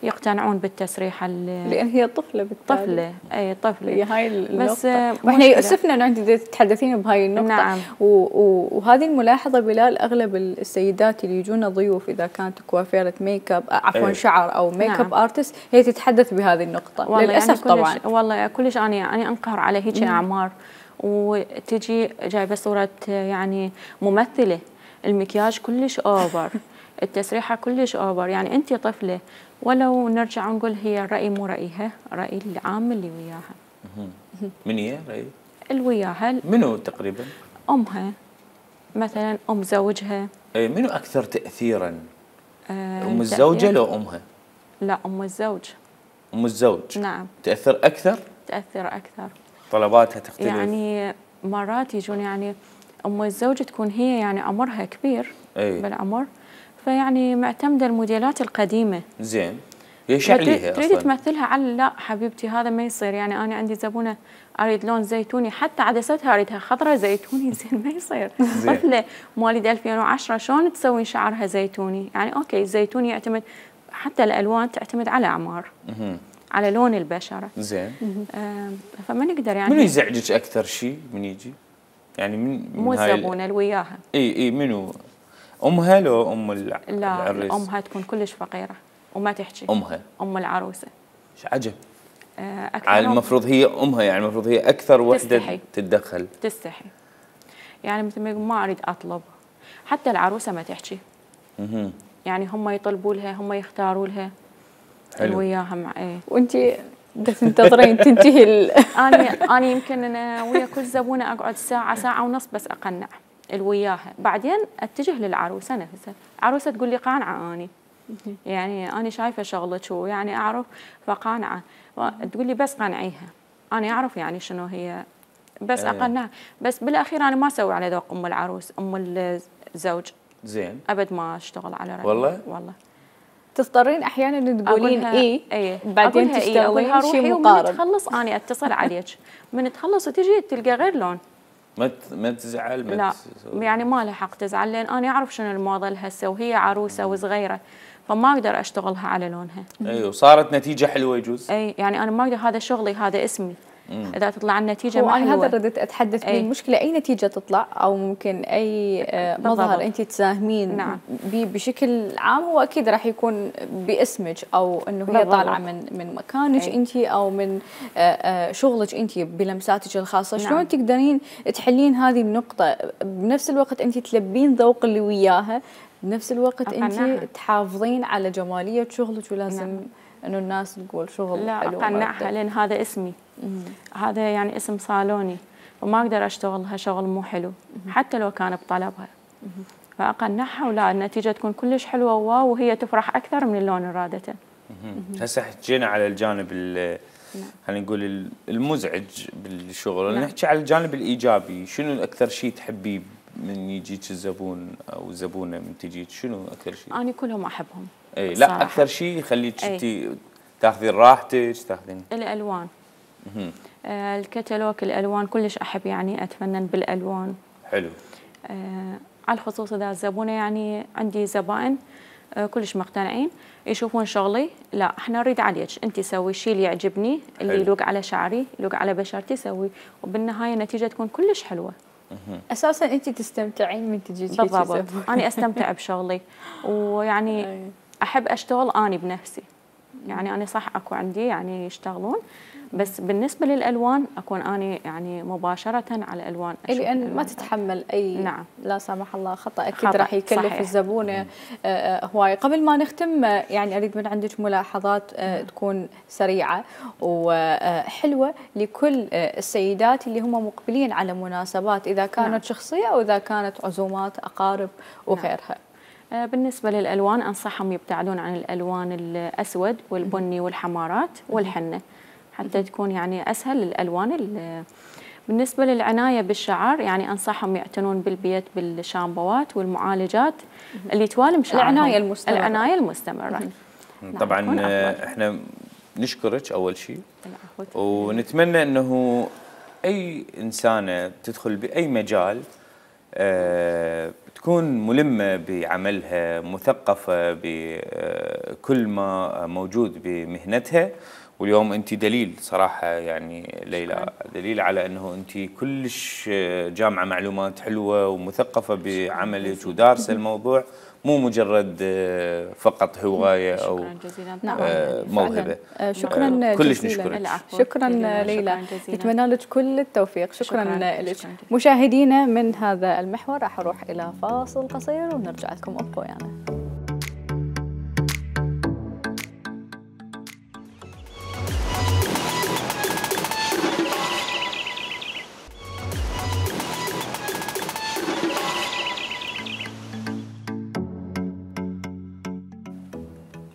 يقتنعون بالتسريحه لان هي طفله بالتالي. طفله اي طفله هي هاي النقطه. بس واحنا يؤسفنا انه انت تتحدثين بهاي النقطه. نعم. وهذه الملاحظه بلال، اغلب السيدات اللي يجونا ضيوف اذا كانت كوافيره ميك اب عفوا أيه. شعر او ميك اب نعم. ارتست، هي تتحدث بهذه النقطه للاسف. يعني طبعا والله كلش انا انا انقهر على هيك اعمار، وتجي جايبه صوره يعني ممثله، المكياج كلش اوفر، التسريحه كلش اوفر، يعني انت طفله. ولو نرجع ونقول هي الراي مو رايها، راي العام اللي وياها. من هي راي؟ اللي وياها منو تقريبا؟ امها مثلا، ام زوجها. اي منو اكثر تاثيرا؟ آه ام الزوجه لو امها؟ لا ام الزوج. ام الزوج نعم تاثر اكثر؟ تاثر اكثر، طلباتها تختلف. يعني مرات يجون يعني ام الزوج تكون هي يعني عمرها كبير أي. بالعمر، فيعني معتمده الموديلات القديمه. زين ليش عليها تريد تمثلها على لا حبيبتي هذا ما يصير، يعني انا عندي زبونه اريد لون زيتوني، حتى عدستها اريدها خضراء زيتوني، زين ما يصير. طفله مواليد ألفين وعشرة شلون تسوي شعرها زيتوني؟ يعني اوكي الزيتوني يعتمد، حتى الالوان تعتمد على اعمار، على لون البشره. زين آه فما نقدر يعني. منو يزعجك اكثر شيء من يجي؟ يعني من مو الزبونه اللي وياها. اي اي منو؟ امها لو ام الع... لا العريس؟ امها تكون كلش فقيره وما تحكي. امها ام العروسه. ايش عجب. آه على المفروض هي امها، يعني المفروض هي اكثر وحده تتدخل. تستحي، يعني مثل ما يقول ما اريد اطلب، حتى العروسه ما تحكي. اها يعني هم يطلبوا لها، هم يختاروا لها اللي وياها مع ايه. وانت بس تنتظرين تنتهي ال... انا انا يمكن انا ويا كل زبونه اقعد ساعه ساعه ونص بس اقنع اللي وياها، بعدين اتجه للعروسه نفسها. العروسه تقول لي قانعه اني، يعني انا شايفه شغلك ويعني اعرف فقانعه، تقول لي بس قنعيها، انا اعرف يعني شنو هي، بس أيه. اقنعها. بس بالاخير انا ما اسوي على ذوق ام العروس، ام الزوج. زين ابد ما اشتغل على رأيي. والله والله تضطرين احيانا تقولين ايه ايه بعدين تشتغلين شيء مقارب. من تخلص انا اتصل عليك، من تخلص وتجي تلقى غير لون. ما ما تزعل؟ ما لا يعني ما له حق تزعل، لان انا اعرف شنو الموضه هسه وهي عروسه وصغيره، فما اقدر اشتغلها على لونها. ايوه صارت نتيجه حلوه يجوز. اي يعني انا ما اقدر، هذا شغلي هذا اسمي. مم. اذا تطلع النتيجه ما حلوه، هذا ردت اتحدث فيه. المشكله اي نتيجه تطلع او ممكن اي مظهر انت تساهمين نعم. بشكل عام، هو اكيد راح يكون باسمك، او انه هي طالعه من من مكانك انت، او من شغلك انت بلمساتك الخاصه. نعم. شلون تقدرين تحلين هذه النقطه بنفس الوقت انت تلبين ذوق اللي وياها، بنفس الوقت انت تحافظين على جماليه شغلك، ولازم نعم. انه الناس تقول شغل لا حلو. لا اقنعها، لان هذا اسمي. مم. هذا يعني اسم صالوني، وما اقدر اشتغلها شغل مو حلو. مم. حتى لو كان بطلبها. مم. فاقنعها ولا النتيجه تكون كلش حلوه واو، وهي تفرح اكثر من اللون اللي رادته. هسه حكينا على الجانب خلينا نقول المزعج بالشغل، نعم. نحكي على الجانب الايجابي. شنو اكثر شيء تحبيه من يجيك الزبون او الزبونه من تجيك شنو اكثر شيء؟ انا كلهم احبهم. اي لا اكثر شيء يخليك انت تاخذين راحتك تاخذين الالوان. آه الكتالوج الالوان كلش احب يعني اتفنن بالالوان. حلو. آه على الخصوص اذا الزبونه يعني عندي زبائن آه كلش مقتنعين يشوفون شغلي، لا احنا نريد عليك انت سوي الشيء اللي يعجبني اللي يلوق على شعري يلوق على بشرتي سوي، وبالنهايه النتيجه تكون كلش حلوه. اساسا انت تستمتعين من تجي بالضبط. انا استمتع بشغلي ويعني احب اشتغل اني بنفسي. يعني انا صح اكو عندي يعني يشتغلون، بس بالنسبه للالوان اكون اني يعني مباشره على الالوان. لان ما تتحمل اي نعم. لا سمح الله خطا اكيد راح يكلف صحيح. الزبونه هواي. قبل ما نختم يعني اريد من عندك ملاحظات تكون سريعه وحلوه لكل السيدات اللي هم مقبلين على مناسبات، اذا كانت نعم. شخصيه او اذا كانت عزومات اقارب وغيرها. نعم. بالنسبه للالوان انصحهم يبتعدون عن الالوان الاسود والبني والحمارات والحنه حتى تكون يعني اسهل الالوان. بالنسبه للعنايه بالشعر يعني انصحهم يعتنون بالبيت بالشامبوات والمعالجات اللي توالم شعرهم. العنايه المستمره. العنايه المستمره. طبعا احنا نشكرك اول شيء ونتمنى انه اي انسانه تدخل باي مجال أه تكون ملمه بعملها، مثقفه بكل ما موجود بمهنتها. واليوم انت دليل صراحه يعني ليلى، دليل على انه انت كلش جامعه معلومات حلوه ومثقفه بعملك ودارسه الموضوع، مو مجرد فقط هوايه او موهبه. شكرا كلش نشكرك. شكرا ليلى، نتمنى لك كل التوفيق. شكرا لك. مشاهدينا من هذا المحور راح اروح الى فاصل قصير ونرجع لكم، ابقوا ويانا. يعني.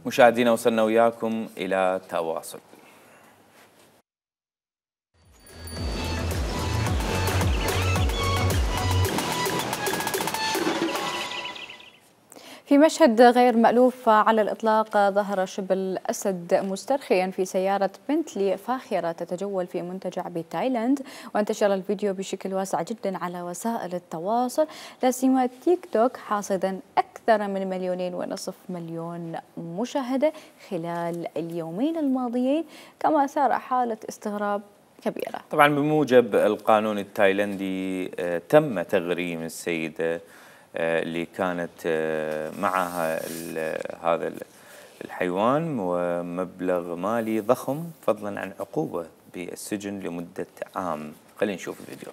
مشاهدينا وصلنا وياكم إلى تواصل. في مشهد غير مألوف على الإطلاق ظهر شبل أسد مسترخيا في سيارة بنتلي فاخرة تتجول في منتجع بتايلاند، وانتشر الفيديو بشكل واسع جدا على وسائل التواصل لا سيما تيك توك، حاصدا أكثر من مليونين ونصف مليون مشاهدة خلال اليومين الماضيين، كما أثار حالة استغراب كبيرة. طبعا بموجب القانون التايلندي تم تغريم السيدة اللي كانت معها هذا الحيوان ومبلغ مالي ضخم، فضلا عن عقوبة بالسجن لمدة عام. خلينا نشوف الفيديو.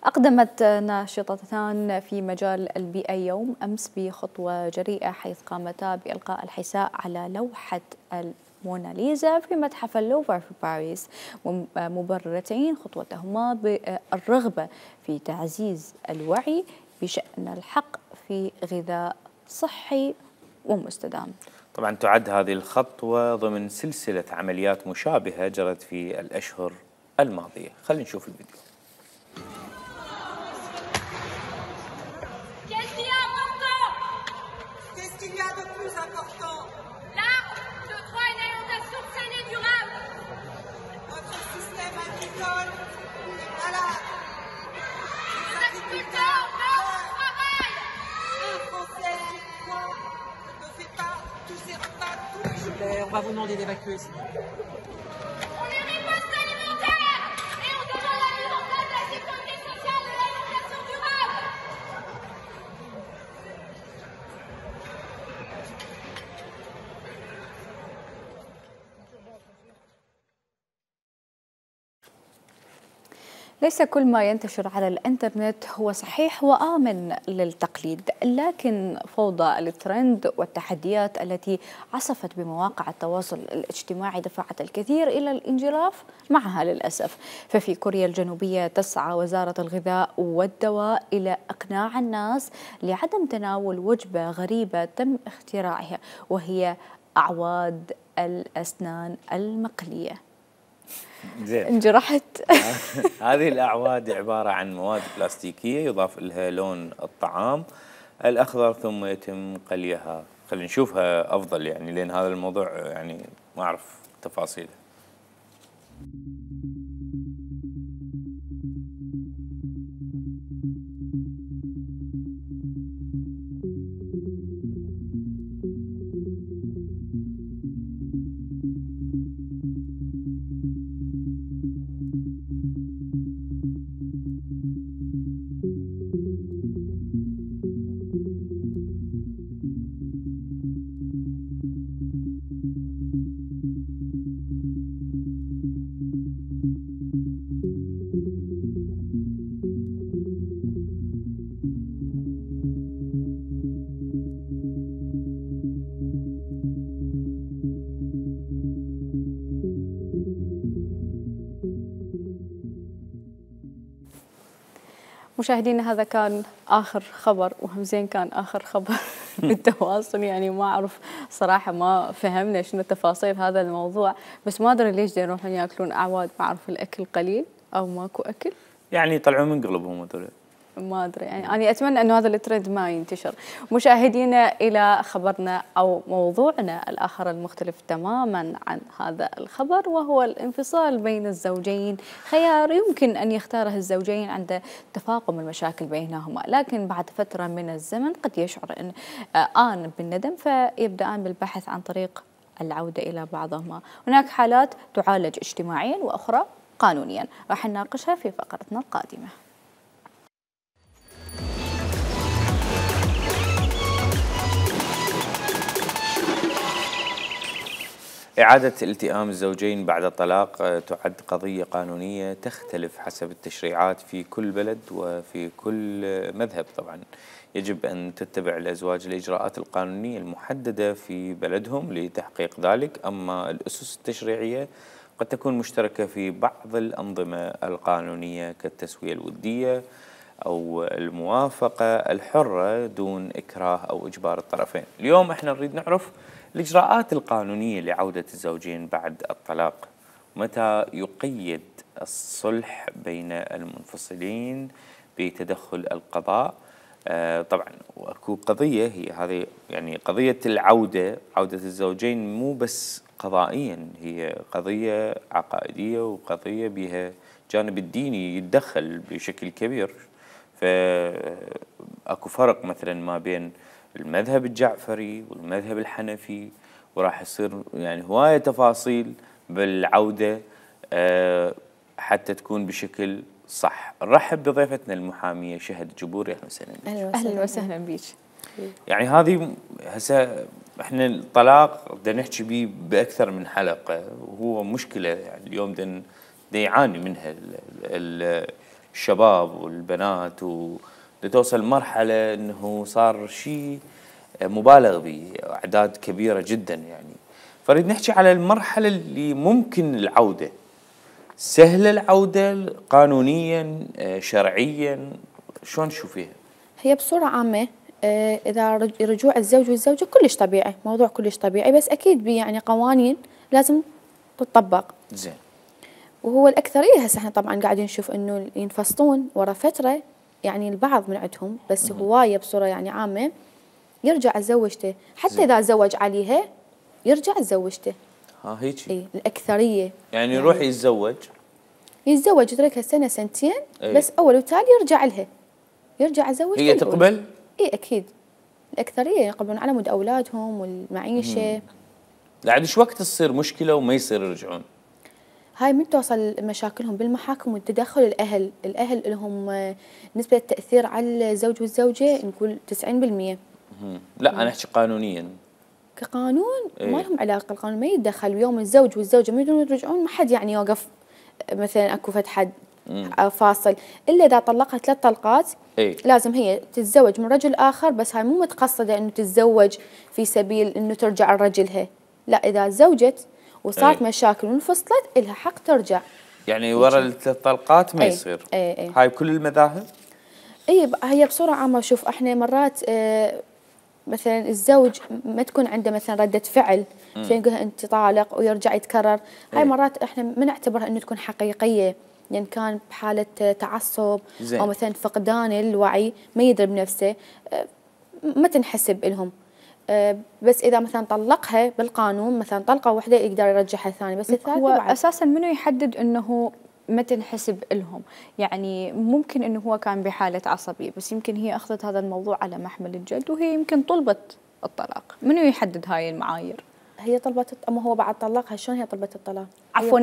أقدمت ناشطتان في مجال البيئة يوم أمس بخطوة جريئة، حيث قامتا بإلقاء الحساء على لوحة الموناليزا في متحف اللوفر في باريس، مبررتين خطوتهما بالرغبة في تعزيز الوعي بشأن الحق في غذاء صحي ومستدام. طبعا تعد هذه الخطوة ضمن سلسلة عمليات مشابهة جرت في الأشهر الماضية. خلينا نشوف الفيديو. On va vous demander d'évacuer. On est riposte alimentaire et on demande la mise en place de la sécurité sociale et de l'alimentation durable. ليس كل ما ينتشر على الانترنت هو صحيح وآمن للتقليد، لكن فوضى الترند والتحديات التي عصفت بمواقع التواصل الاجتماعي دفعت الكثير إلى الانجراف معها للأسف. ففي كوريا الجنوبية تسعى وزارة الغذاء والدواء إلى إقناع الناس لعدم تناول وجبة غريبة تم اختراعها، وهي أعواد الأسنان المقلية. زين. انجرحت. هذه الأعواد عبارة عن مواد بلاستيكية يضاف لها لون الطعام الأخضر ثم يتم قليها. خلينا نشوفها أفضل يعني، لأن هذا الموضوع يعني ما أعرف تفاصيله. مشاهدينا هذا كان آخر خبر، وهم زين كان آخر خبر بالتواصل، يعني ما أعرف صراحة ما فهمنا شنو تفاصيل هذا الموضوع، بس ما أدري ليش يروحون ياكلون أعواد، ما أعرف الأكل قليل أو ماكو أكل، يعني يطلعون من قلبهم هذول. ما أدري يعني أنا أتمنى أنه هذا الترند ما ينتشر. مشاهدينا إلى خبرنا أو موضوعنا الآخر المختلف تماما عن هذا الخبر، وهو الانفصال بين الزوجين. خيار يمكن أن يختاره الزوجين عند تفاقم المشاكل بينهما، لكن بعد فترة من الزمن قد يشعر أن آن بالندم فيبدأان بالبحث عن طريق العودة إلى بعضهما. هناك حالات تعالج اجتماعيا وأخرى قانونيا، راح نناقشها في فقرتنا القادمة. إعادة التئام الزوجين بعد الطلاق تعد قضية قانونية تختلف حسب التشريعات في كل بلد وفي كل مذهب. طبعا يجب أن تتبع الأزواج الإجراءات القانونية المحددة في بلدهم لتحقيق ذلك، أما الأسس التشريعية قد تكون مشتركة في بعض الأنظمة القانونية كالتسوية الودية أو الموافقة الحرة دون إكراه أو إجبار الطرفين. اليوم احنا نريد نعرف الإجراءات القانونية لعودة الزوجين بعد الطلاق، متى يقيد الصلح بين المنفصلين بتدخل القضاء. آه طبعا واكو قضية هي هذه يعني قضية العودة، عودة الزوجين مو بس قضائيا، هي قضية عقائدية وقضية بها جانب الديني يتدخل بشكل كبير. فاكو فرق مثلا ما بين المذهب الجعفري والمذهب الحنفي، وراح يصير يعني هواية تفاصيل بالعودة أه حتى تكون بشكل صح. نرحب بضيفتنا المحامية شهد جبوري. اهلا وسهلا بك. اهلا وسهلا بيك. يعني هذه هسه احنا الطلاق بدنا نحكي به باكثر من حلقة، وهو مشكلة يعني اليوم بدنا يعاني منها الشباب والبنات، وتوصل مرحلة انه صار شيء مبالغ به، أعداد كبيرة جدا يعني. فريد نحكي على المرحلة اللي ممكن العودة، سهلة العودة قانونيا شرعيا، شلون تشوفيها؟ هي بصورة عامة إذا رجوع الزوج والزوجة كلش طبيعي، موضوع كلش طبيعي، بس أكيد بي يعني قوانين لازم تطبق. زين. وهو الأكثرية هسه احنا طبعا قاعدين نشوف إنه ينفصلون ورا فترة، يعني البعض من عندهم، بس هواية بصورة يعني عامة يرجع زوجته، حتى زي. إذا زوج عليها يرجع زوجته. ها هيك. اي الأكثرية يعني يروح يعني يتزوج يتزوج يتركها سنة سنتين أي. بس أول وتالي يرجع لها، يرجع زوجته. هي تقبل؟ اي أكيد الأكثرية يقبلون على مود أولادهم والمعيشة. بعد ايش وقت تصير مشكلة وما يصير يرجعون؟ هاي من توصل مشاكلهم بالمحاكم والتدخل الأهل، الأهل لهم نسبة التأثير على الزوج والزوجة نقول تسعين بالمئة. لا أنا أحكي قانونيا. كقانون إيه؟ ما لهم علاقة، القانون ما يتدخل. يوم الزوج والزوجة ما يريدون يرجعون ما حد يعني يوقف مثلا اكو فد حد مم. فاصل، الا اذا طلقها ثلاث طلقات اي لازم هي تتزوج من رجل اخر، بس هاي مو متقصده انه تتزوج في سبيل انه ترجع لرجلها، لا اذا تزوجت وصارت أي. مشاكل وانفصلت الها حق ترجع. يعني ورا الثلاث طلقات ما أي. يصير. أي. أي. هاي بكل المذاهب؟ اي هي بصوره عامه. شوف احنا مرات آه مثلا الزوج ما تكون عنده مثلا رده فعل فنقول انت طالق ويرجع يتكرر، هاي مرات احنا ما نعتبرها انه تكون حقيقيه، لان يعني كان بحاله تعصب زين. او مثلا فقدان الوعي ما يدري بنفسه، آه ما تنحسب لهم. آه بس اذا مثلا طلقها بالقانون مثلا طلقه واحده يقدر يرجعها ثاني، بس الثالثه هو بعد. اساسا منو يحدد انه ما تنحسب لهم؟ يعني ممكن انه هو كان بحاله عصبيه، بس يمكن هي اخذت هذا الموضوع على محمل الجد وهي يمكن طلبت الطلاق، منو يحدد هاي المعايير؟ هي طلبت، اما هو بعد طلقها شلون هي طلبت الطلاق؟ عفوا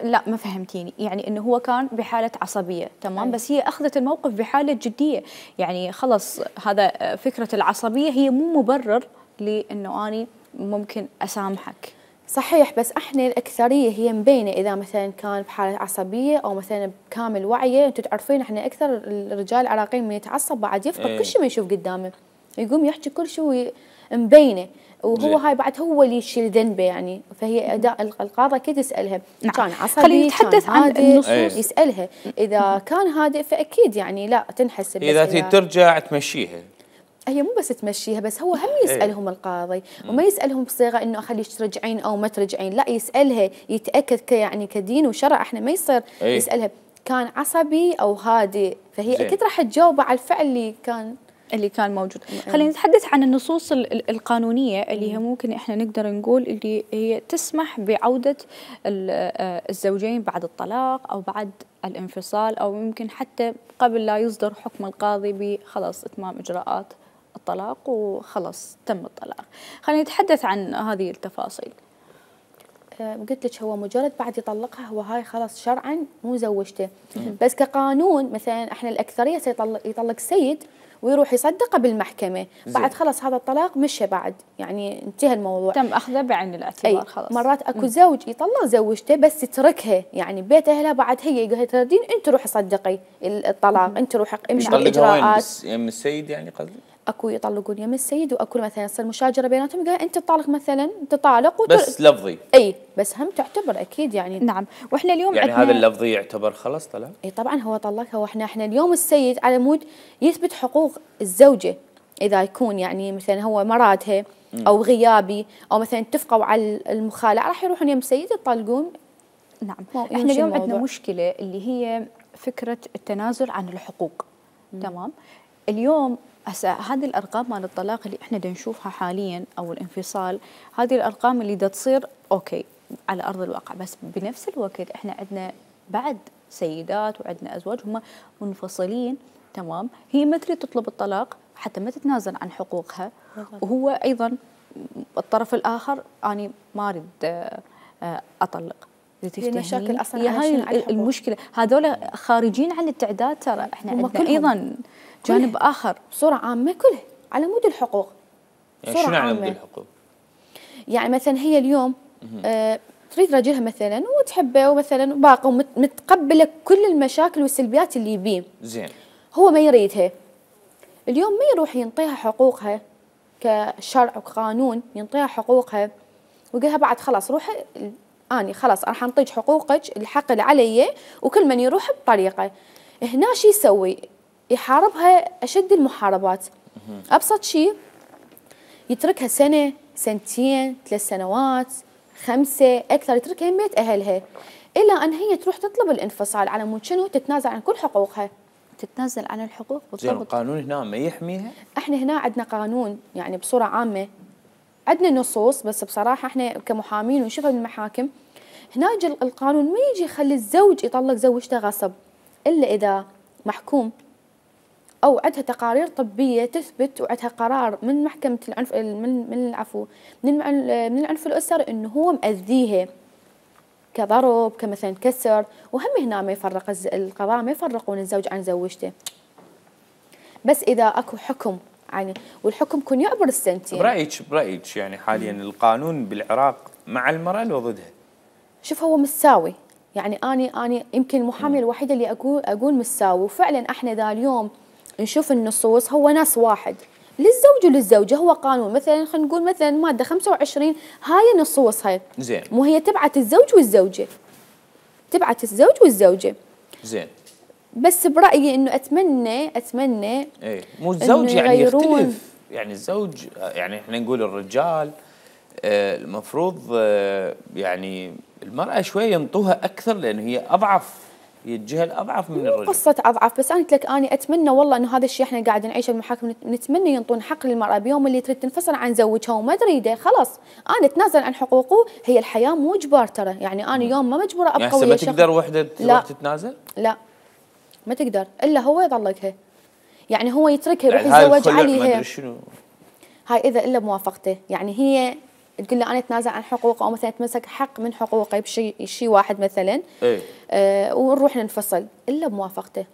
لا ما فهمتيني، يعني انه هو كان بحاله عصبيه تمام أي. بس هي اخذت الموقف بحاله جديه، يعني خلص هذا فكره العصبيه هي مو مبرر لانه اني ممكن اسامحك. صحيح، بس احنا الاكثريه هي مبينه اذا مثلا كان بحاله عصبيه او مثلا بكامل وعيه، انتم تعرفين احنا اكثر الرجال العراقيين من يتعصب بعد يفقد ايه. كل شيء ما يشوف قدامه، يقوم يحكي كل شيء مبينه، وهو جي. هاي بعد هو اللي يشيل ذنبه يعني، فهي اداء القاضي اكيد يسالها نعم. كان عصبي خلينا نتحدث عن النصوص. ايه. يسالها اذا كان هادئ فاكيد يعني لا تنحسب. اذا تريد ترجع تمشيها، هي مو بس تمشيها، بس هو هم يسألهم القاضي وما يسألهم بصيغة إنه أخليك ترجعين أو ما ترجعين، لا يسألها يتأكد ك يعني كدين وشرع إحنا ما يصير أي. يسألها كان عصبي أو هادئ، فهي زين. أكيد راح تجاوب على الفعل اللي كان اللي كان موجود. خلينا نتحدث عن النصوص القانونية اللي هي ممكن احنا نقدر نقول اللي هي تسمح بعودة الزوجين بعد الطلاق او بعد الانفصال، او يمكن حتى قبل لا يصدر حكم القاضي بخلاص اتمام اجراءات الطلاق وخلاص تم الطلاق. خلينا نتحدث عن هذه التفاصيل. قلت لك هو مجرد بعد يطلقها هو هاي خلاص شرعا مو زوجته، بس كقانون مثلا احنا الاكثريه سيطلق يطلق سيد ويروح يصدقه بالمحكمه، بعد خلاص هذا الطلاق مشى بعد يعني انتهى الموضوع، تم اخذه بعين الاعتبار خلاص. مرات اكو م. زوج يطلق زوجته بس يتركها يعني بيت اهلها، بعد هي يقول تردين انت روحي صدقي الطلاق، انت روحي امشي بالاجراءات. يم السيد يعني قصدي؟ اكو يطلقون يم السيد واكو مثلا يصير مشاجره بيناتهم يقول انت طالق مثلا انت طالق وتر... بس لفظي. اي بس هم تعتبر اكيد يعني. نعم، واحنا اليوم يعني هذا اللفظي يعتبر خلاص طلاق؟ اي طبعا هو طلقها، واحنا احنا اليوم السيد على مود يثبت حقوق الزوجه، اذا يكون يعني مثلا هو مرادها او غيابي او مثلا اتفقوا على المخالعه راح يروحون يم السيد يطلقون. نعم، احنا اليوم عندنا مشكله اللي هي فكره التنازل عن الحقوق. مم. تمام، اليوم هسه هذه الارقام مال الطلاق اللي احنا دا نشوفها حاليا او الانفصال، هذه الارقام اللي دا تصير اوكي على ارض الواقع، بس بنفس الوقت احنا عندنا بعد سيدات وعندنا ازواج هم منفصلين تمام، هي ما تريد تطلب الطلاق حتى ما تتنازل عن حقوقها، وهو ايضا الطرف الاخر اني ما اريد اطلق. مشاكل اصلا هي هاي المشكله، هذول خارجين عن التعداد، ترى احنا عندنا ايضا جانب كله. اخر بصوره عامه كله على مود الحقوق. يعني شنو على مود الحقوق؟ يعني مثلا هي اليوم آه تريد رجلها مثلا وتحبه ومثلا باقي ومتقبله كل المشاكل والسلبيات اللي يبيه. زين. هو ما يريدها. اليوم ما يروح ينطيها حقوقها كشرع وقانون، ينطيها حقوقها ويقولها بعد خلاص روحي اني خلاص راح انطيك حقوقك الحق اللي علي، وكل من يروح بطريقه. هنا شو يسوي؟ يحاربها اشد المحاربات. ابسط شيء يتركها سنه سنتين ثلاث سنوات خمسه اكثر، يتركها يميت اهلها الى ان هي تروح تطلب الانفصال على مود شنو؟ تتنازل عن كل حقوقها. تتنازل عن الحقوق بالضبط. زين، القانون هنا ما يحميها؟ احنا هنا عندنا قانون يعني بصوره عامه، عندنا نصوص، بس بصراحه احنا كمحامين ونشوفها بالمحاكم هنا يجي القانون ما يجي يخلي الزوج يطلق زوجته غصب، الا اذا محكوم او عندها تقارير طبيه تثبت وعندها قرار من محكمه العنف من من العفو من من العنف الاسري انه هو مأذيها كضرب كمثلا كسر، وهم هنا ما يفرق القضاء ما يفرقون الزوج عن زوجته. بس اذا اكو حكم يعني والحكم يكون يعبر السنتين. برايك برايك يعني حاليا القانون بالعراق مع المراه لو ضدها؟ شوف هو متساوي، يعني اني اني يمكن المحاميه الوحيده اللي اقول اقول مساوي، وفعلا احنا ذا اليوم نشوف النصوص هو نص واحد للزوج وللزوجه، هو قانون مثلا خلينا نقول مثلا ماده خمسة وعشرين هاي نصوصها زين، مو هي تبعت الزوج والزوجه، تبعت الزوج والزوجه. زين، بس برايي انه اتمنى اتمنى ايه مو الزوج يعني يغيرون. يختلف، يعني الزوج يعني احنا نقول الرجال آه المفروض آه يعني المراه شويه ينطوها اكثر لان هي اضعف، هي الجهه الاضعف من الرجل. قصة أضعف، بس أنا قلت لك أنا أتمنى والله إنه هذا الشيء إحنا قاعد نعيشه بالمحاكم، نتمنى ينطون حق للمرأة بيوم اللي تريد تنفصل عن زوجها وما تريده خلاص أنا أتنازل عن حقوقه، هي الحياة مو إجبار ترى، يعني أنا يوم ما مجبورة أبقى يعني ويا ما شخص. تقدر وحدة تروح تتنازل؟ لا ما تقدر إلا هو يطلقها، يعني هو يتركها يروح يعني يتزوج عليها. ما أدري شنو هاي إذا إلا بموافقته، يعني هي تقول له أنا أتنازل عن حقوقه أو مثلا يتمسك حق من حقوقه بشيء شيء واحد مثلا ايه آه ونروح ننفصل إلا بموافقته.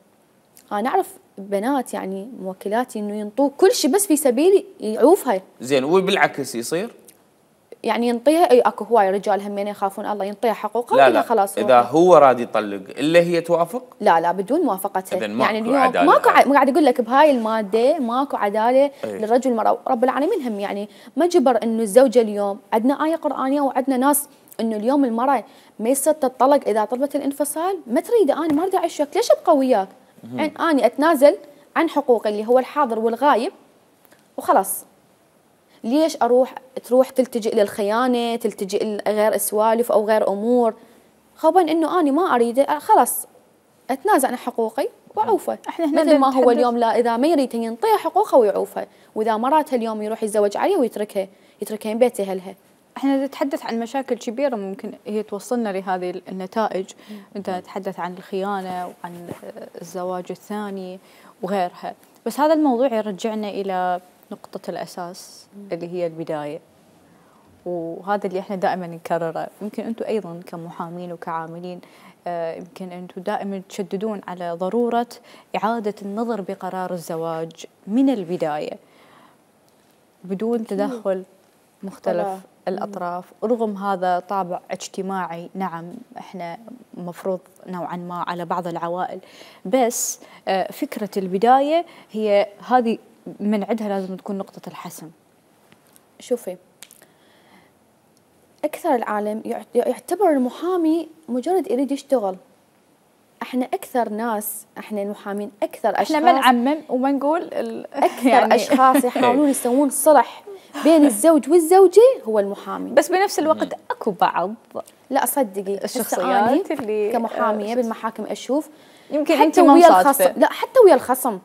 أنا أعرف بنات يعني موكلاتي إنه ينطوه كل شيء بس في سبيل يعوفها. زين، وبالعكس يصير؟ يعني ينطيها، اي اكو هواي رجال همين يخافون الله ينطيها حقوقها لا ولا لا خلاص اذا هو راد يطلق الا هي توافق؟ لا لا بدون موافقتها. إذن ماكو يعني اليوم عدالة. ماكو ع... قاعد اقول لك بهاي الماده ماكو عداله أي. للرجل والمراه، رب العالمين هم يعني ما جبر انه الزوجه اليوم عندنا ايه قرانيه وعندنا ناس انه اليوم المراه ما يصير تطلق اذا طلبت الانفصال، ما تريده انا ما اريد اعيش وياك، ليش ابقى وياك؟ يعني اني اتنازل عن حقوقي اللي هو الحاضر والغايب وخلاص. ليش اروح تروح تلتجئ للخيانه، تلتجئ لغير سوالف او غير امور، خوفا انه اني ما اريده خلاص اتنازل عن حقوقي واعوفه. احنا هنا مثل ما هو نتحدث- اليوم لا اذا ما يريد ينطيها حقوقها ويعوفها، واذا مراتها اليوم يروح يتزوج عليها ويتركها، يتركها من بيت اهلها. احنا نتحدث عن مشاكل كبيره ممكن هي توصلنا لهذه النتائج، انت تتحدث عن الخيانه وعن الزواج الثاني وغيرها، بس هذا الموضوع يرجعنا الى نقطه الاساس اللي هي البدايه، وهذا اللي احنا دائما نكرره. يمكن انتم ايضا كمحامين وكعاملين آه، يمكن انتم دائما تشددون على ضروره اعاده النظر بقرار الزواج من البدايه بدون تدخل مختلف طبعاً. الأطراف، رغم هذا طابع اجتماعي نعم احنا مفروض نوعا ما على بعض العوائل، بس آه، فكرة البداية هي هذه من عندها لازم تكون نقطة الحسم. شوفي اكثر العالم يعت- يعتبر المحامي مجرد يريد يشتغل. احنا اكثر ناس، احنا المحامين اكثر اشخاص احنا ما نعمم وما نقول ال- اكثر يعني اشخاص يحاولون يسوون صلح بين الزوج والزوجه هو المحامي. بس بنفس الوقت اكو بعض لا صدقي هسه الشخصيات أنا اللي كمحاميه آه، بالمحاكم اشوف يمكن انت حتى ما ويا مصادفة. الخصم، لا حتى ويا الخصم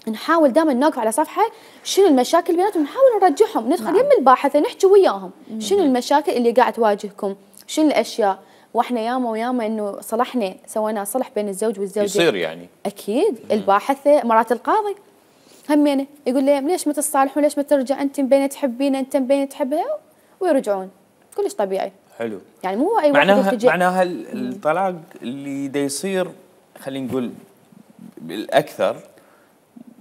نحاول دائما نوقف على صفحه شنو المشاكل بيناتهم، نحاول نرجعهم، ندخل نعم. يم الباحثه نحكي وياهم شنو المشاكل اللي قاعد تواجهكم، شنو الاشياء، واحنا ياما وياما انه صلحنا سوينا صلح بين الزوج والزوجه. يصير يعني اكيد الباحثه مرات القاضي همينه يقول لهم ليش ما تصالحون، ليش ما ترجع انت مبين تحبينه انت مبين تحبها، ويرجعون كلش طبيعي. حلو. يعني مو اي واحد معناها يلتجئ. معناها ال- الطلاق اللي دا يصير خلينا نقول بالاكثر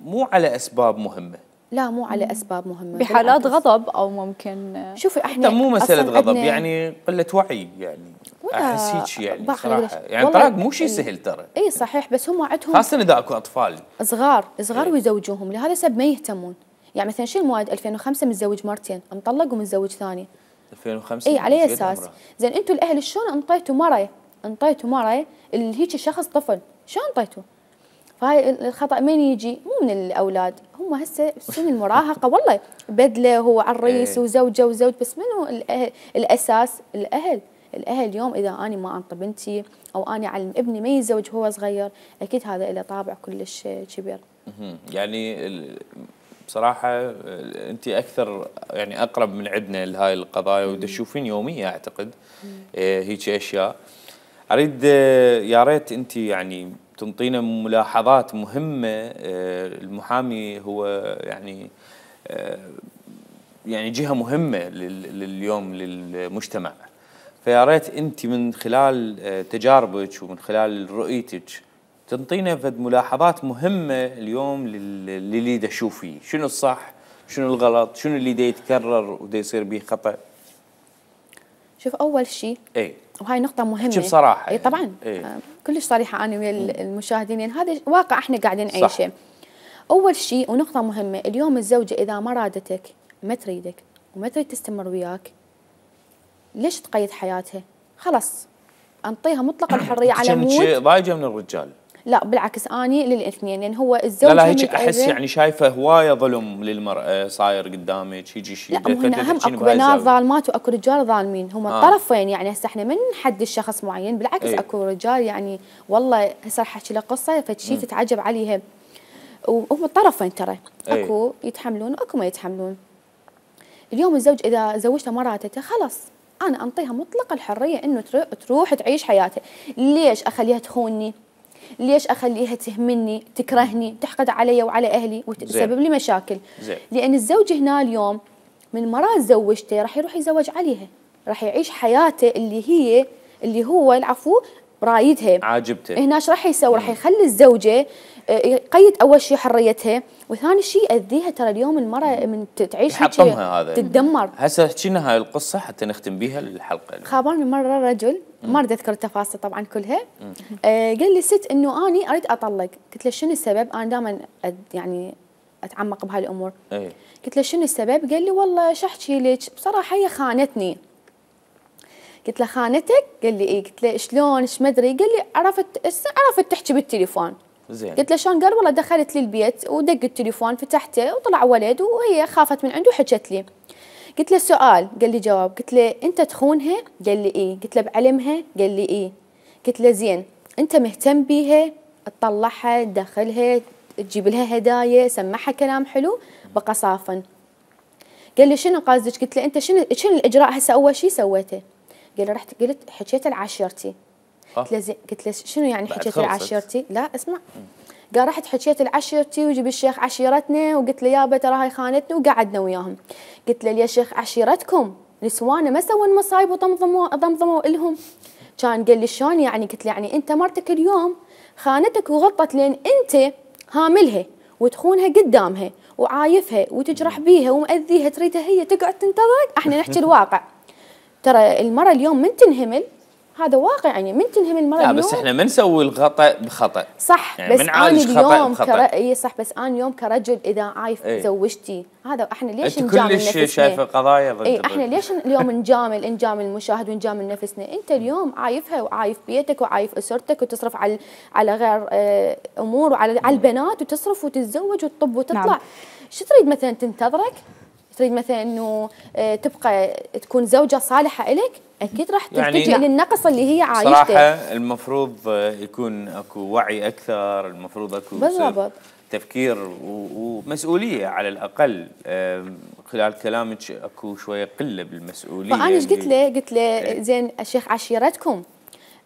مو على اسباب مهمه، لا مو على اسباب مهمه، بحالات بالعكس. غضب او ممكن شوفي احنا حتى مو مساله أصلاً غضب، عندنا- يعني قله وعي، يعني ولا احس هيك يعني باخذ صراحه، ليش- يعني والله الطلاق مو شيء ال- سهل ترى، اي صحيح، بس هم عندهم خاصه اذا اكو اطفال. صغار صغار إيه. ويزوجوهم، لهذا السبب ما يهتمون. يعني مثلا شو المواد ألفين وخمسة متزوج مرتين، مطلق ومتزوج ثاني. ألفين وخمسة اي على زين اساس عمره. زين انتم الاهل شلون انطيتوا مره انطيتوا مره اللي هيك شخص طفل، شلون انطيتوا؟ فهاي الخطا من يجي؟ مو من الاولاد، هم هسه سن المراهقه والله بدله هو عريس إيه. وزوجه وزوج، بس منو الأهل؟ الاساس الاهل. الاهل اليوم اذا اني ما انطي بنتي او اني اعلم ابني ما يتزوج وهو صغير، اكيد هذا له طابع كلش كبير. مهم. يعني ال- بصراحه ال- انت اكثر يعني اقرب من عندنا لهاي القضايا وتشوفين يوميا اعتقد إيه هيك اشياء. اريد آه، يا ريت انت يعني تنطينا ملاحظات مهمه. آه، المحامي هو يعني آه، يعني جهه مهمه لل- لليوم للمجتمع، فيا ريت انت من خلال آه، تجاربك ومن خلال رؤيتك تنطينا فد ملاحظات مهمه اليوم لل- للي دا يشوف فيه، شنو الصح، شنو الغلط، شنو اللي دا يتكرر ودا يصير به خطا. شوف اول شيء اي وهاي نقطة مهمة. احكي بصراحة اي طبعا يعني. إيه؟ آه، كلش صريحة أنا ويا المشاهدين، يعني هذا واقع احنا قاعدين نعيشه. أول شيء ونقطة مهمة، اليوم الزوجة إذا ما رادتك ما تريدك وما تريد تستمر وياك، ليش تقيد حياتها؟ خلاص انطيها مطلق الحرية على مود. ضايجة من الرجال؟ لا بالعكس، اني للاثنين، لان هو الزوج لا لا هيك احس يعني شايفه هوايه ظلم للمراه صاير قدامك، يجي شيء لا مو هنا هم اكو بنات ظالمات واكو رجال ظالمين، هم آه. الطرفين، يعني هسه احنا من نحدد شخص معين، بالعكس ايه؟ اكو رجال يعني والله هسه راح احكي لك قصه فشي تتعجب عليها، وهم الطرفين ترى ايه؟ اكو يتحملون واكو ما يتحملون. اليوم الزوج اذا زوجته مراتته خلاص انا انطيها مطلق الحريه انه تروح تعيش حياتها. ليش اخليها تخونني؟ ليش اخليها تهمني، تكرهني، تحقد علي وعلى اهلي وتسبب لي مشاكل؟ زي. لان الزوج هنا اليوم من مرات زوجته راح يروح يتزوج عليها، راح يعيش حياته اللي هي اللي هو العفو رايدها عاجبته. هنا ايش راح يسوي؟ راح يخلي الزوجه يقيد اول شيء حريتها، وثاني شيء يأذيها. ترى اليوم المراه من تعيش هيك هذا تتدمر. هسه حكينا هاي القصه حتى نختم بيها الحلقه. خابرني مره رجل ما اريد اذكر التفاصيل طبعا كلها، آه قال لي ست انه اني اريد اطلق. قلت له شنو السبب؟ انا دائما يعني اتعمق بهاي الامور. ايه؟ قلت له شنو السبب؟ قال لي والله شو احكي لك بصراحه هي خانتني. قلت له خانتك؟ قال لي ايه. قلت له شلون ايش ما ادري؟ قال لي عرفت عرفت تحكي بالتليفون. زين. قلت له شلون؟ قال والله دخلت لي البيت ودق التليفون فتحته وطلع ولد وهي خافت من عنده وحكت لي. قلت له سؤال، قال لي جواب. قلت له انت تخونها؟ قال لي ايه. قلت له بعلمها؟ قال لي ايه. قلت له زين انت مهتم بيها، تطلعها تدخلها تجيب لها هدايا سمعها كلام حلو بقى صافن. قال لي شنو قصدك؟ قلت له انت شنو شنو الاجراء هسه اول شيء سويته؟ قال لي رحت قلت حكيت لعشيرتي. قلت له زين. قلت له شنو يعني حكيت لعشيرتي؟ لا اسمع. قال رحت حكيت لعشيرتي وجيب الشيخ عشيرتنا وقلت له يابا ترى هاي خانتني وقعدنا وياهم. قلت له يا شيخ عشيرتكم نسوانه ما سووا مصايب وضمضموا ضمضموا لهم؟ كان قال لي شلون يعني؟ قلت له يعني انت مرتك اليوم خانتك وغلطت لان انت هاملها وتخونها قدامها وعايفها وتجرح بيها ومأذيها، تريدها هي تقعد تنتظرك. احنا نحكي الواقع، ترى المرأة اليوم من تنهمل هذا واقع، يعني من تنهمل المرأة لا اليوم. بس احنا ما نسوي الخطأ بخطأ صح، يعني بس انا اليوم كر... اي صح، بس انا اليوم كرجل اذا عايف ايه؟ زوجتي هذا احنا ليش نجامل نفسنا؟ كلش شايفه قضايا ضد اي احنا ليش اليوم نجامل نجامل المشاهد ونجامل نفسنا؟ انت اليوم عايفها وعايف بيتك وعايف اسرتك وتصرف على على غير اه امور وعلى على البنات وتصرف وتتزوج وتطب وتطلع. نعم. شو تريد مثلا تنتظرك؟ تريد مثلا انه اه تبقى تكون زوجة صالحة لك؟ اكيد راح تلتجئ يعني للنقص اللي هي عايشته. صراحة المفروض يكون اكو وعي اكثر، المفروض اكو بالضبط تفكير ومسؤولية على الاقل. خلال كلامك اكو شوية قلة بالمسؤولية. فانا ايش قلت له؟ قلت له زين الشيخ عشيرتكم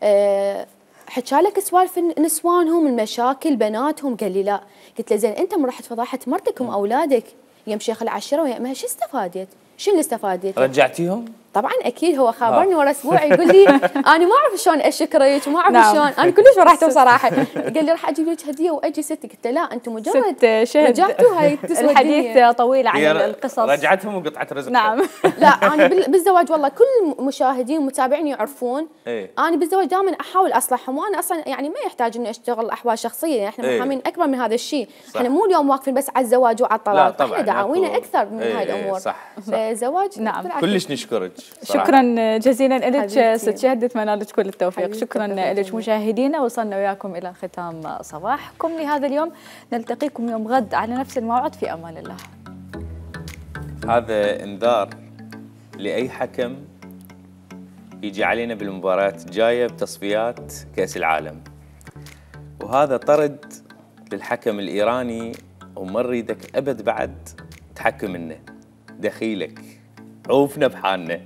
أه حكى لك سوالف نسوانهم المشاكل بناتهم؟ قال لي لا. قلت له زين انت من رحت فضحت مرتكم واولادك يم شيخ العشيره ويا امها، شو استفادت؟ شو اللي استفادت؟ رجعتيهم؟ طبعا اكيد. هو خابرني ورا اسبوع يقول لي انا ما اعرف شلون اشكرك وما اعرف نعم. شلون، انا كلش فرحت بصراحه. قال لي راح اجيب لك هديه واجي ست. قلت له لا انتم مجرد رجعتوا هاي الحديث طويل عن القصص. رجعتهم وقطعه رزق. نعم. لا انا بالزواج والله كل مشاهدين ومتابعين يعرفون ايه؟ انا بالزواج دائما احاول اصلحهم، وانا اصلا يعني ما يحتاج اني اشتغل احوال شخصيه، يعني احنا محامين ايه؟ اكبر من هذا الشيء. احنا مو اليوم واقفين بس على الزواج وعلى الطلاق، احنا دعاوينا اكثر من ايه هاي الامور. صح. فالزواج نعم كلش نشكرك. شكرا جزيلا لك ست شهد، اتمنى لك كل التوفيق. شكرا لك مشاهدينا، وصلنا وياكم الى ختام صباحكم لهذا اليوم. نلتقيكم يوم غد على نفس الموعد، في امان الله. هذا انذار لاي حكم يجي علينا بالمباريات الجايه بتصفيات كاس العالم، وهذا طرد للحكم الايراني، وما نريدك ابد بعد تحكم لنا، دخيلك عوفنا بحالنا.